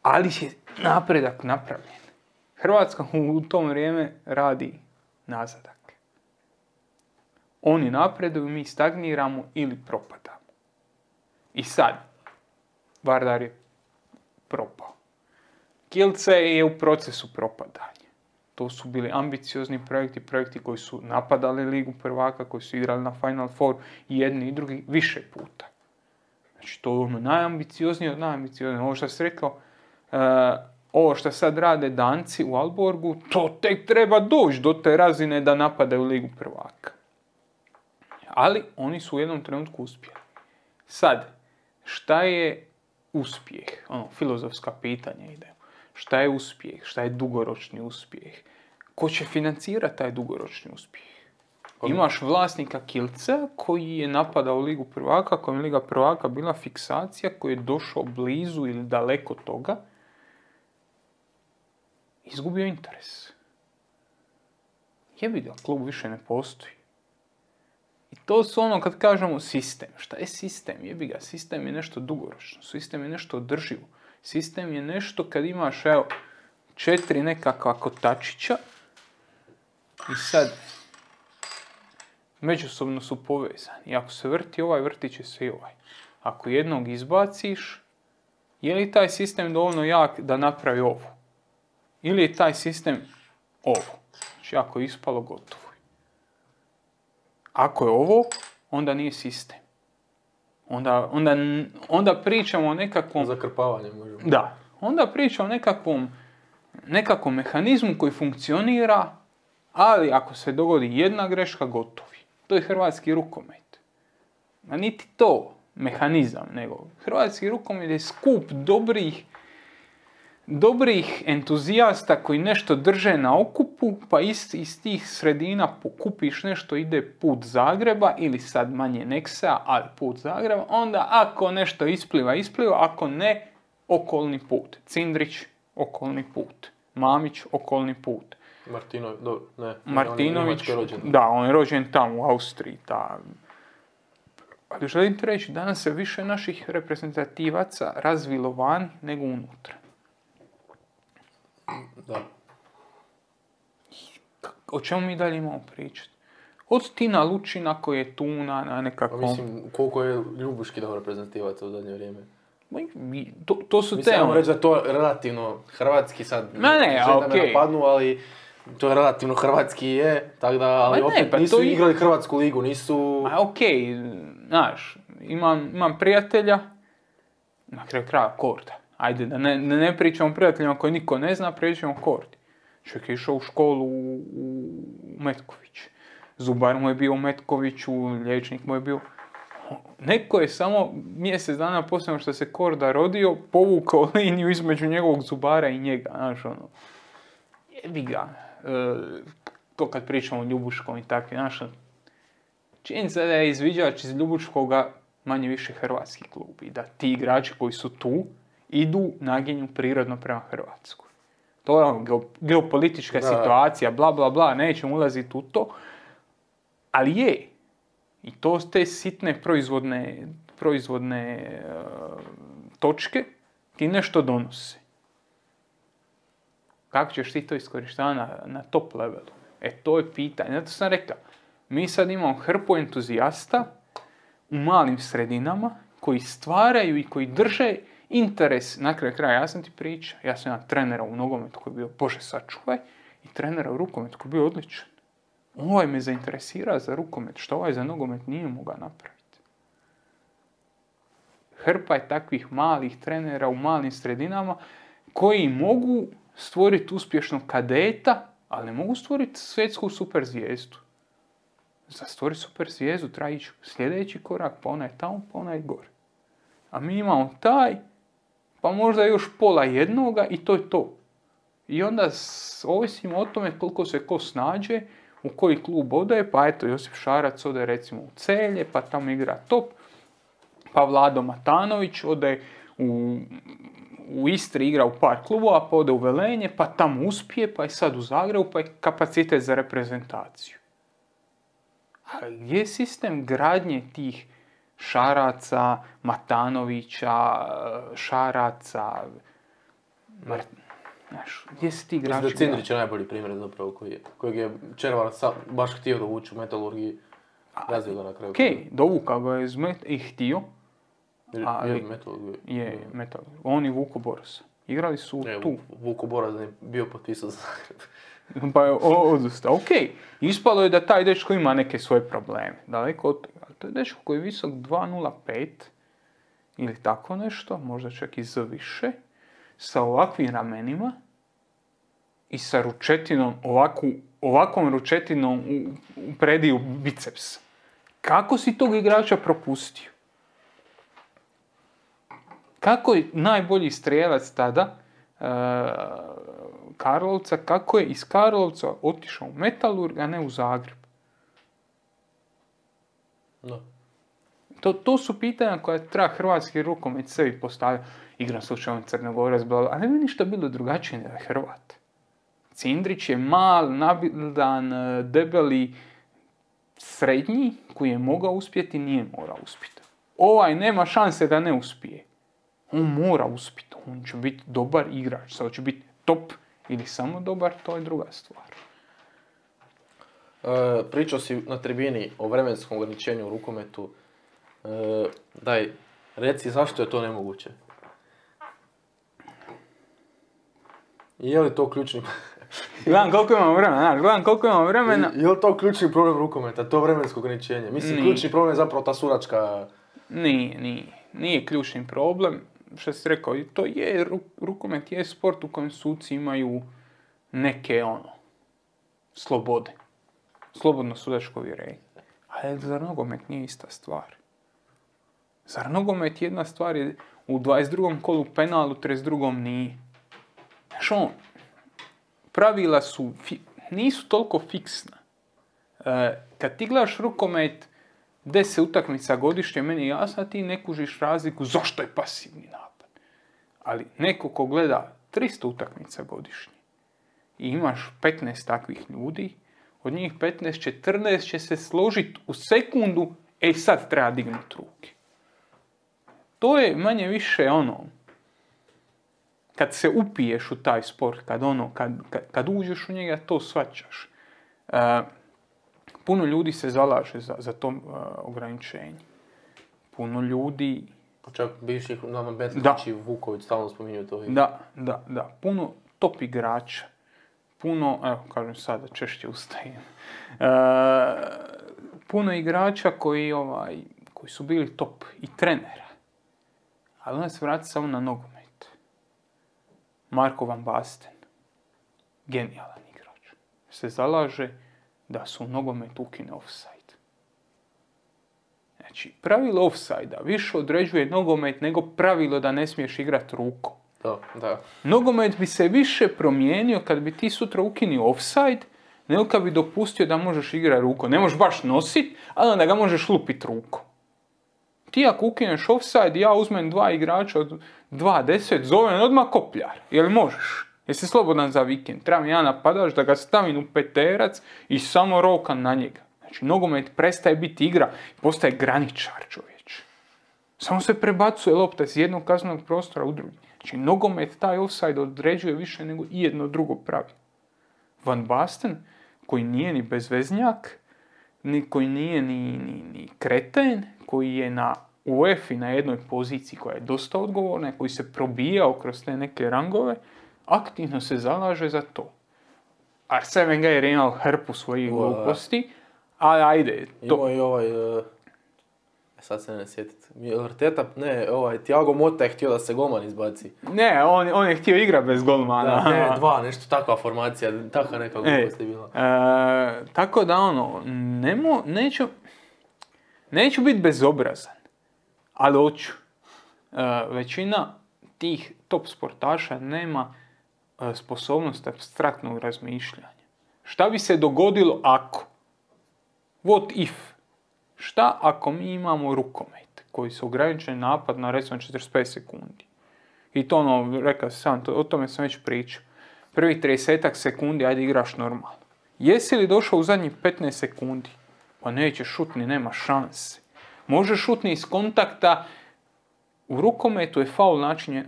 Ali je napredak napravljen. Hrvatska u tom vrijeme radi nazadak. Oni napreduju, mi stagniramo ili propadamo. I sad, Vardar je propao. Kielce je u procesu propadanja. To su bili ambiciozni projekti koji su napadali Ligu prvaka, koji su igrali na Final Four i jedni i drugi više puta. Znači to je ono najambicioznije od najambicioznije. Ovo što sam rekao, ovo što sad rade Danci u Aalborgu, to tek treba doći do te razine da napadaju Ligu prvaka. Ali oni su u jednom trenutku uspjeli. Sad, šta je uspjeh? Filozofska pitanja ide. Šta je uspjeh? Šta je dugoročni uspjeh? Ko će financirati taj dugoročni uspjeh? Imaš vlasnika Kielca koji je napadao Ligu prvaka, kojem je Liga prvaka bila fiksacija, koji je došao blizu ili daleko toga, izgubio interes. jebi ga, klub više ne postoji. I to su ono kad kažemo sistem. Šta je sistem? Jebi ga, sistem je nešto dugoročno, sistem je nešto održivo. Sistem je nešto kad imaš, evo, 4 nekakva kotačića i sad međusobno su povezani. I ako se vrti ovaj, vrtit će se i ovaj. Ako jednog izbaciš, je li taj sistem dovoljno jak da napravi ovo? Ili je taj sistem ovo? Znači, ako je ispalo, gotovo. Ako je ovo, onda nije sistem. Onda pričamo o nekakvom... Zakrpavanje možemo. Da. Onda pričamo o nekakvom mehanizmu koji funkcionira, ali ako se dogodi jedna greška, gotovi. To je hrvatski rukomet. A niti to mehanizam, nego hrvatski rukomet je skup dobrih entuzijasta koji nešto drže na okupu, pa iz tih sredina pokupiš nešto, ide put Zagreba, ili sad manje Neksa, ali put Zagreba, onda ako nešto ispliva, ako ne, okolni put. Cindrić, okolni put. Mamić, okolni put. Martinović, da, on je rođen tamo u Austriji. Ali želim ti reći, danas se više naših reprezentativaca razvilo van nego unutra. Da. O čemu mi dalje imamo pričati? Od Tina Lučina koji je tu na nekakvom... Mislim, koliko je Ljubuški dao reprezentativaca u zadnje vrijeme? To su mislim, teme. reći da to relativno hrvatski sad... Ne, da me napadnu, ali to je relativno hrvatski je, tako da, ali opet pa nisu igrali Hrvatsku ligu, nisu... Znaš, imam prijatelja, na kraju kraja Korda. Ajde, da ne pričamo o prijateljima koji niko ne zna, pričamo o Kordi. Čovjek je išao u školu u Metković. Zubar mu je bio u Metkoviću, liječnik mu je bio... Neko je samo mjesec dana poslije što se Korda rodio, povukao liniju između njegovog zubara i njega. Znaš, ono... Jebi ga. To kad pričamo o Ljubuškom i takvi, znaš, činjenica da je izviđač iz Ljubuškoga manje više hrvatski klub i da ti igrači koji su tu idu naginju prirodno prema Hrvatskoj. To je geopolitička situacija, bla bla bla, nećemo ulaziti u to, ali je. I to te sitne proizvodne točke ti nešto donose. Kako ćeš ti to iskorištavati na top levelu? To je pitanje. Zato sam rekao, mi sad imamo hrpu entuzijasta u malim sredinama koji stvaraju i koji drže interes. Na kraju kraja, ja sam ti pričao, ja sam imao trenera u nogometu koji je bio, Bože sačuvaj, i trenera u rukometu koji je bio odličan. Ovaj me zainteresira za rukomet, što ovaj za nogomet nije mogao napraviti. Hrpa je takvih malih trenera u malim sredinama koji mogu stvoriti uspješnog kadeta, ali ne mogu stvoriti svjetsku super zvijezdu. Za stvoriti super zvijezdu treba ići sljedeći korak, pa onaj tamo, pa onaj gore. A mi imamo taj, pa možda još pola jednoga i to je to. I onda ovisimo o tome koliko se ko snađe, u koji klub odaje, pa eto Josip Šarac ode recimo u Celje, pa tamo igra top, pa Vlado Matanović ode u Istri, igra u par klubova, pa ode u Velenje, pa tamo uspije, pa je sad u Zagrebu, pa je kapacitet za reprezentaciju. A gdje je sistem gradnje tih Šaraca, Matanovića, Šaraca, gdje si ti igrači? Mislim da Cindrić je najbolji primjer zapravo kojeg je Červar baš htio dovući u Metalurgiji, razvio ga na kraju. Dovukao ga je i htio. Je Metalurgiji. Je Metalurgiji. On i Vuko Boros. Igrali su tu. Vuko Boros je bio potpisao za Zagreb. Pa je odustao. Ispalo je da taj dečko ima neke svoje probleme. Daleko od toga. To je dečko koji je visok 2.05 ili tako nešto, možda čak i za više, sa ovakvim ramenima i sa ručetinom, ovakvom ručetinom u prediju bicepsa. Kako si tog igrača propustio? Kako je najbolji strijelac tada Karlovca, kako je iz Karlovca otišao u Metalurg, a ne u Zagreb? No. To su pitanja koja treba hrvatski rukomet sebi postavljati. Igram slučajno Crnogorac, ali ne bi ništa bilo drugačije nego Hrvat. Cindrić je mal, nabildan, debeli, srednji, koji je mogao uspjeti, nije morao uspjeti. Ovaj nema šanse da ne uspije. On mora uspjeti, on će biti dobar igrač, sad će biti top ili samo dobar, to je druga stvar. Pričao si na tribini o vremenskom ograničenju u rukometu. Daj, reci zašto je to nemoguće? Je li to ključni... Gledam koliko imamo vremena, Je li to ključni problem rukometa, to vremensko ograničenje? Mislim, ključni problem je zapravo ta suračka... Nije ključni problem, što si rekao, to je, rukomet je sport u kojem suci imaju neke, slobode. Slobodno sudačko uvjerenje. Ali zar nogomet nije ista stvar? Zar nogomet jedna stvar je u 22. kolu penal, u 32. nije? Znaš pravila nisu toliko fiksna. Kad ti gledaš rukomet 10 utakmica godišnje, meni je jasno, ti ne kužiš razliku zašto je pasivni napad. Ali neko ko gleda 300 utakmica godišnje i imaš 15 takvih ljudi, od njih 14 će se složiti u sekundu, sad treba dignuti ruke. To je manje više kad se upiješ u taj sport, kad uđeš u njega, to shvaćaš. Puno ljudi se zalaže za to ograničenje. Puno ljudi... Čak bivših nama Betlić i Vuković stalno spominju to. Da. Puno top igrača. Puno, kažem sada, češće ustajem. Puno igrača koji su bili top i trenera. Ali onda se vrati samo na nogomet. Marko van Basten, genijalan igrač, se zalaže da su u nogometu ukine offside. Znači, pravilo offside-a više određuje nogomet nego pravilo da ne smiješ igrati rukom. Da. Nogomet bi se više promijenio kad bi ti sutra ukinio offside, nego kad bi dopustio da možeš igrati rukom. Ne možeš baš nositi, ali onda ga možeš lupiti rukom. Ti ako ukineš offside, ja uzmem 2 igrača od 2-10, zovem odmah kopljar. Jel možeš? Jesi slobodan za vikend? Trebam ja napadaš da ga stavim u peterac i samo rokam na njega. Znači, nogomet prestaje biti igra, postaje graničar, čovječ. Samo se prebacuje lopta iz jednog kaznenog prostora u drugi. Znači, nogomet taj offside određuje više nego i jedno drugo pravilo. Van Basten, koji nije ni bezveznjak, koji nije ni kreten, koji je na UEFA na jednoj poziciji koja je dosta odgovorna, koji se probijao kroz te neke rangove, aktivno se zalaže za to. Arsene Wenger je imao hrpu svojih gluposti, ali ajde. Imao i sad se ne sjetiti. Thiago Motta je htio da se golman izbaci. Ne, on je htio igrati bez golmana. Da, nešto takva formacija, takva neka glupost je bila. Tako da neću biti bezobrazan, ali hoću. Većina tih top sportaša nema sposobnost apstraktnog razmišljanja. Šta bi se dogodilo ako? What if? Šta ako mi imamo rukomet koji se ograničen napad na recimo 45 sekundi? I to rekao sam, o tome sam već pričao. Prvi 30 sekundi, ajde igraš normalno. Jesi li došao u zadnjih 15 sekundi? Pa nećeš šutni, nema šanse. Možeš šutni iz kontakta. U rukometu je faul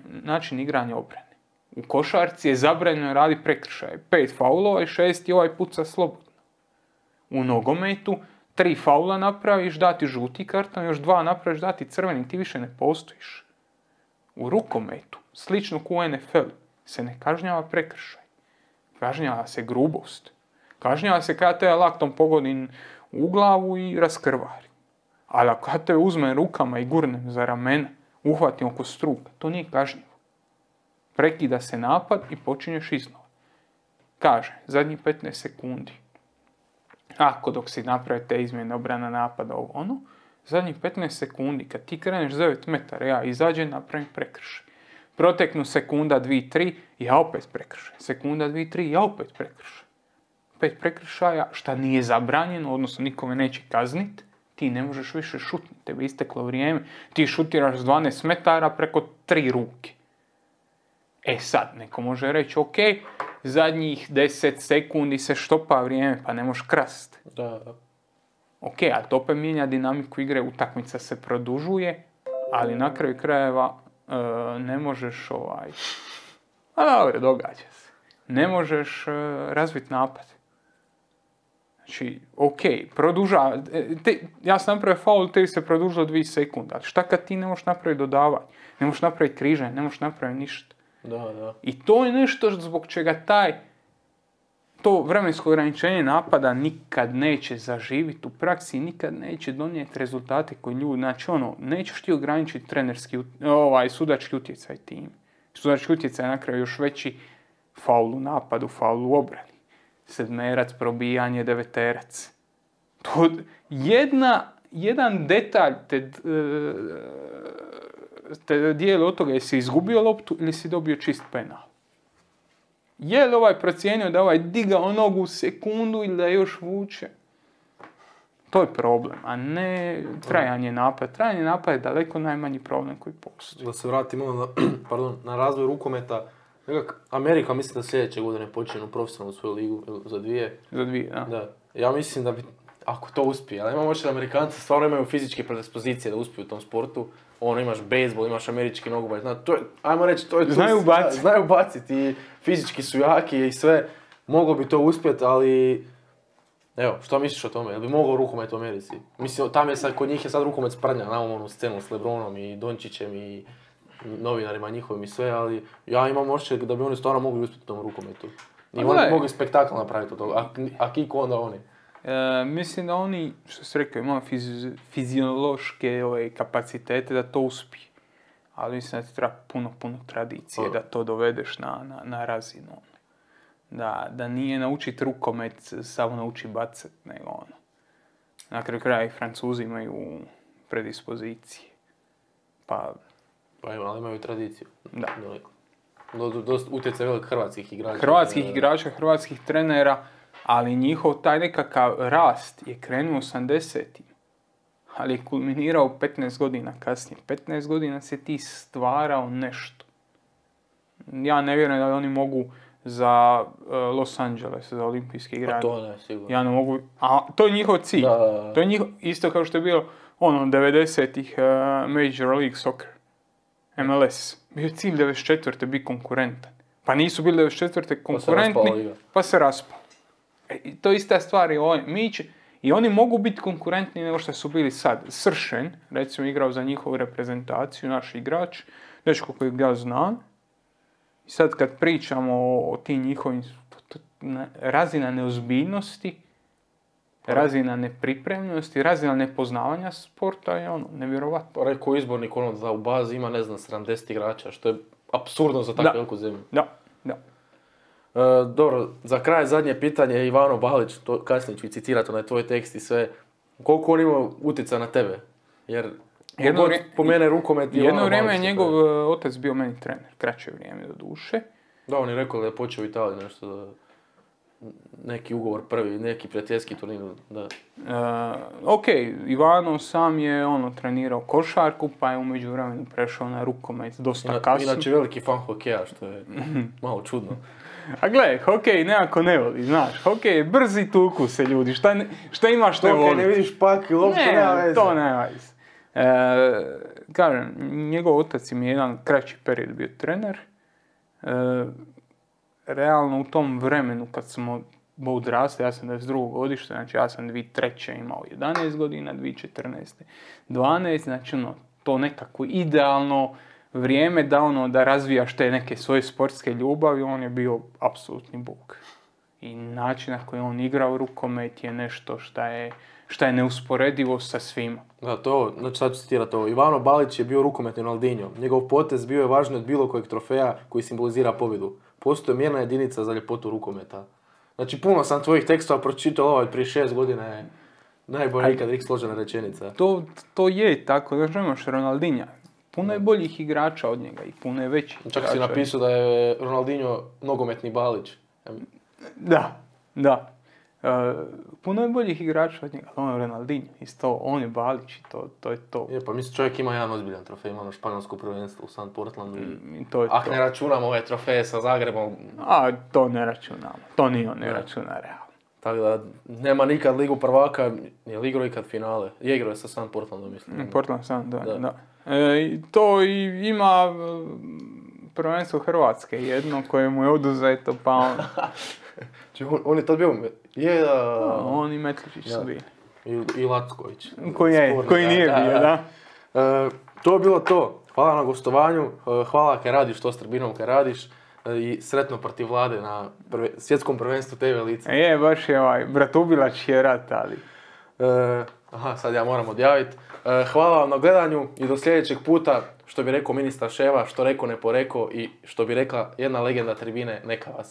način igranja obrane. U košarci je zabranjeno radi prekršaje. 5 faulova i 6 ovaj puca slobodno. U nogometu 3 faula napraviš, dati žuti karton, još 2 napraviš, dati crveni, ti više ne postojiš. U rukometu, slično kao u NFL, se ne kažnjava prekršaj. Kažnjava se grubost. Kažnjava se kada te laktom pogodim u glavu i raskrvari. Ali ako te uzmem rukama i gurnem za ramena, uhvatim oko struka, to nije kažnjivo. Prekida se napad i počinješ iznova. Kaže, zadnjih 15 sekundi. Ako dok si napravi te izmjene obrana napada zadnjih 15 sekundi, kad ti kreneš 9 metara, ja izađem, napravim prekršaj. Proteknu sekunda, 2, 3, ja opet prekršaj. Sekunda, 2, 3, ja opet prekršaj. 5 prekršaja, šta nije zabranjeno, odnosno nikome neće kazniti, ti ne možeš više šutiti, tebi isteklo vrijeme, ti šutiraš s 12 metara preko 3 ruke. Sad, neko može reći, ok, zadnjih 10 sekundi se štopa vrijeme, pa ne možeš krast. Da. Ok, a to opet mijenja dinamiku igre, utakmica se produžuje, ali na kraju krajeva ne možeš a dobro, događa se. Ne možeš razviti napad. Znači, ok, ja sam napravio faul, tebi se produžilo 2 sekunde, ali šta kad ti ne možeš napraviti dodavanje, ne možeš napraviti križanje, ne možeš napraviti ništa. Da. I to je nešto zbog čega to vremensko ograničenje napada nikad neće zaživiti u praksi, nikad neće donijeti rezultate koji ljudi, znači nećeš ti ograničiti sudački utjecaj tim. Sudački utjecaj je na kraju još veći, faul u napadu, faul u obrani. Sedmerac, probijanje, deveterac. To jedan detalj te dijeli od toga jesi izgubio loptu ili si dobio čist penal. Je li ovaj procijenio da ovaj digao nogu u sekundu ili da još vuče? To je problem, a ne trajanje napada. Trajanje napada je daleko najmanji problem koji postoji. Da se vratimo na razvoj rukometa. Amerika mislim da sljedeće godine počne u profesionalnu svoju ligu za 2. Za 2, da. Ja mislim da bi, ako to uspije, ali imamo očito Amerikanci stvarno imaju fizičke predispozicije da uspiju u tom sportu. Imaš bejzbol, imaš američki nogomet, ajmo reći, to je... Znaju baciti i fizički su jaki i sve. Moglo bi to uspjeti, ali... Evo, što misliš o tome? Jel bi mogao rukomet u Americi? Mislim, kod njih je sad rukomet sprnja, znamo onu scenu s LeBronom i Dončićem i novinarima njihovim i sve, ali ja imam osjećaj da bi oni stvarno mogli uspjeti u tom rukometu. I oni mogli spektakl napraviti od toga, a kiko onda oni? Mislim da oni, što se rekao, imaju fiziološke kapacitete da to uspije. Ali mislim da ti treba puno tradicije da to dovedeš na razinu. Da nije naučiti rukomet, samo nauči bacati, nego Na kraju kraja i Francuzi imaju predispozicije. Ali imaju tradiciju. Da. Dosta utjecaj velik hrvatskih igrača. Hrvatskih trenera, ali njihov taj nekakav rast je krenuo 80-im, ali je kulminirao 15 godina kasnije. 15 godina se ti stvarao nešto. Ja ne vjerujem da oni mogu za Los Angeles, za olimpijske igranje. To ne, sigurno. Ja ne mogu, a to je njihov cilj. Da. To je isto kao što je bilo 90-ih Major League Soccer, MLS. Bio je cilj 94. biti konkurentan. Pa nisu bili 94. konkurentni, pa se raspao. To je ista stvar i oni mogu biti konkurentni nego što su bili sad. Sršen, recimo, igrao za njihovu reprezentaciju, naš igrač, dečko kojeg ja znam. I sad kad pričamo o tim njihovim, razina neozbiljnosti, razina nepripremljenosti, razina nepoznavanja sporta je nevjerovatno. Rekao izbornik da u bazi ima, 70 igrača, što je apsurdno za takvu veliku zemlju. Da. Dobro, za kraj zadnje pitanje, Ivano Balić, to kasnije ću citirati onaj tvoj tekst i sve. Koliko on ima utjecaja na tebe? Jer po mene rukomet je jedno vrijeme je njegov otac bio meni trener, kraće vrijeme do duše. Da, on je rekao da je počeo u Italiji nešto, neki ugovor prvi, neki prijateljski turnir. Ok, Ivano sam je trenirao košarku, pa je u međuvremenu prešao na rukomet dosta kasno. Inače veliki fan hokeja, što je malo čudno. A gle, hokej nekako ne voli, znaš, hokej je brzi, tuku se ljudi, šta imaš ne voli? Hokej ne vidiš pak, loptu nema veze. To nema veze. Kažem, njegov otac im je jedan kraći period bio trener. Realno u tom vremenu kad smo odrasli, ja sam 22. godište, znači ja sam 2003. imao 11 godina, 2014. 12, znači to nekako idealno vrijeme da razvijaš te neke svoje sportske ljubavi, on je bio apsolutni bog. I način na koji on igrao rukomet je nešto šta je neusporedivo sa svima. Da, znači sad ću citirati ovo. Ivano Balić je bio rukometni Ronaldinho. Njegov potez bio je važniji od bilo kojeg trofeja koji simbolizira pobjedu. Postoje mjerna jedinica za ljepotu rukometa. Znači, puno sam tvojih tekstova pročitao, ovaj prije 6 godina je najbolje ikad složena rečenica. To je tako, da imaš Ronaldinha. Puno je boljih igrača od njega i puno je većih igrača. Čak si napisao da je Ronaldinho nogometni Balić. Da. Puno je boljih igrača od njega, on je Ronaldinho, isto, on je Balić i to je to. Je, pa mislim čovjek ima jedan ozbiljan trofej, ima ono španjolsko prvenstvo u San Portlandu I to je to. ne računamo ove trofeje sa Zagrebom, A to ne računamo, to ni on ne računa realno. tako da nema nikad ligu prvaka, nije igrao ikad finale. Je igrao je sa San Portlandom, mislim. Portland sam, da. Da. To i ima prvenstvo Hrvatske, jedno koje mu je oduzeto, pa on... On je tad bio, On i Metličić su bili. i Lacković. Koji nije bio, da. To je bilo to. Hvala na gostovanju, hvala kaj radiš to s Trbinom kaj radiš i sretno protiv Vlade na svjetskom prvenstvu TV lice. Baš je Bratubilač je rat, ali... Sad ja moram odjaviti. Hvala vam na gledanju i do sljedećeg puta, što bi rekao ministar Ševa, što rekao ne poreko i što bi rekla jedna legenda Tribine, neka vas.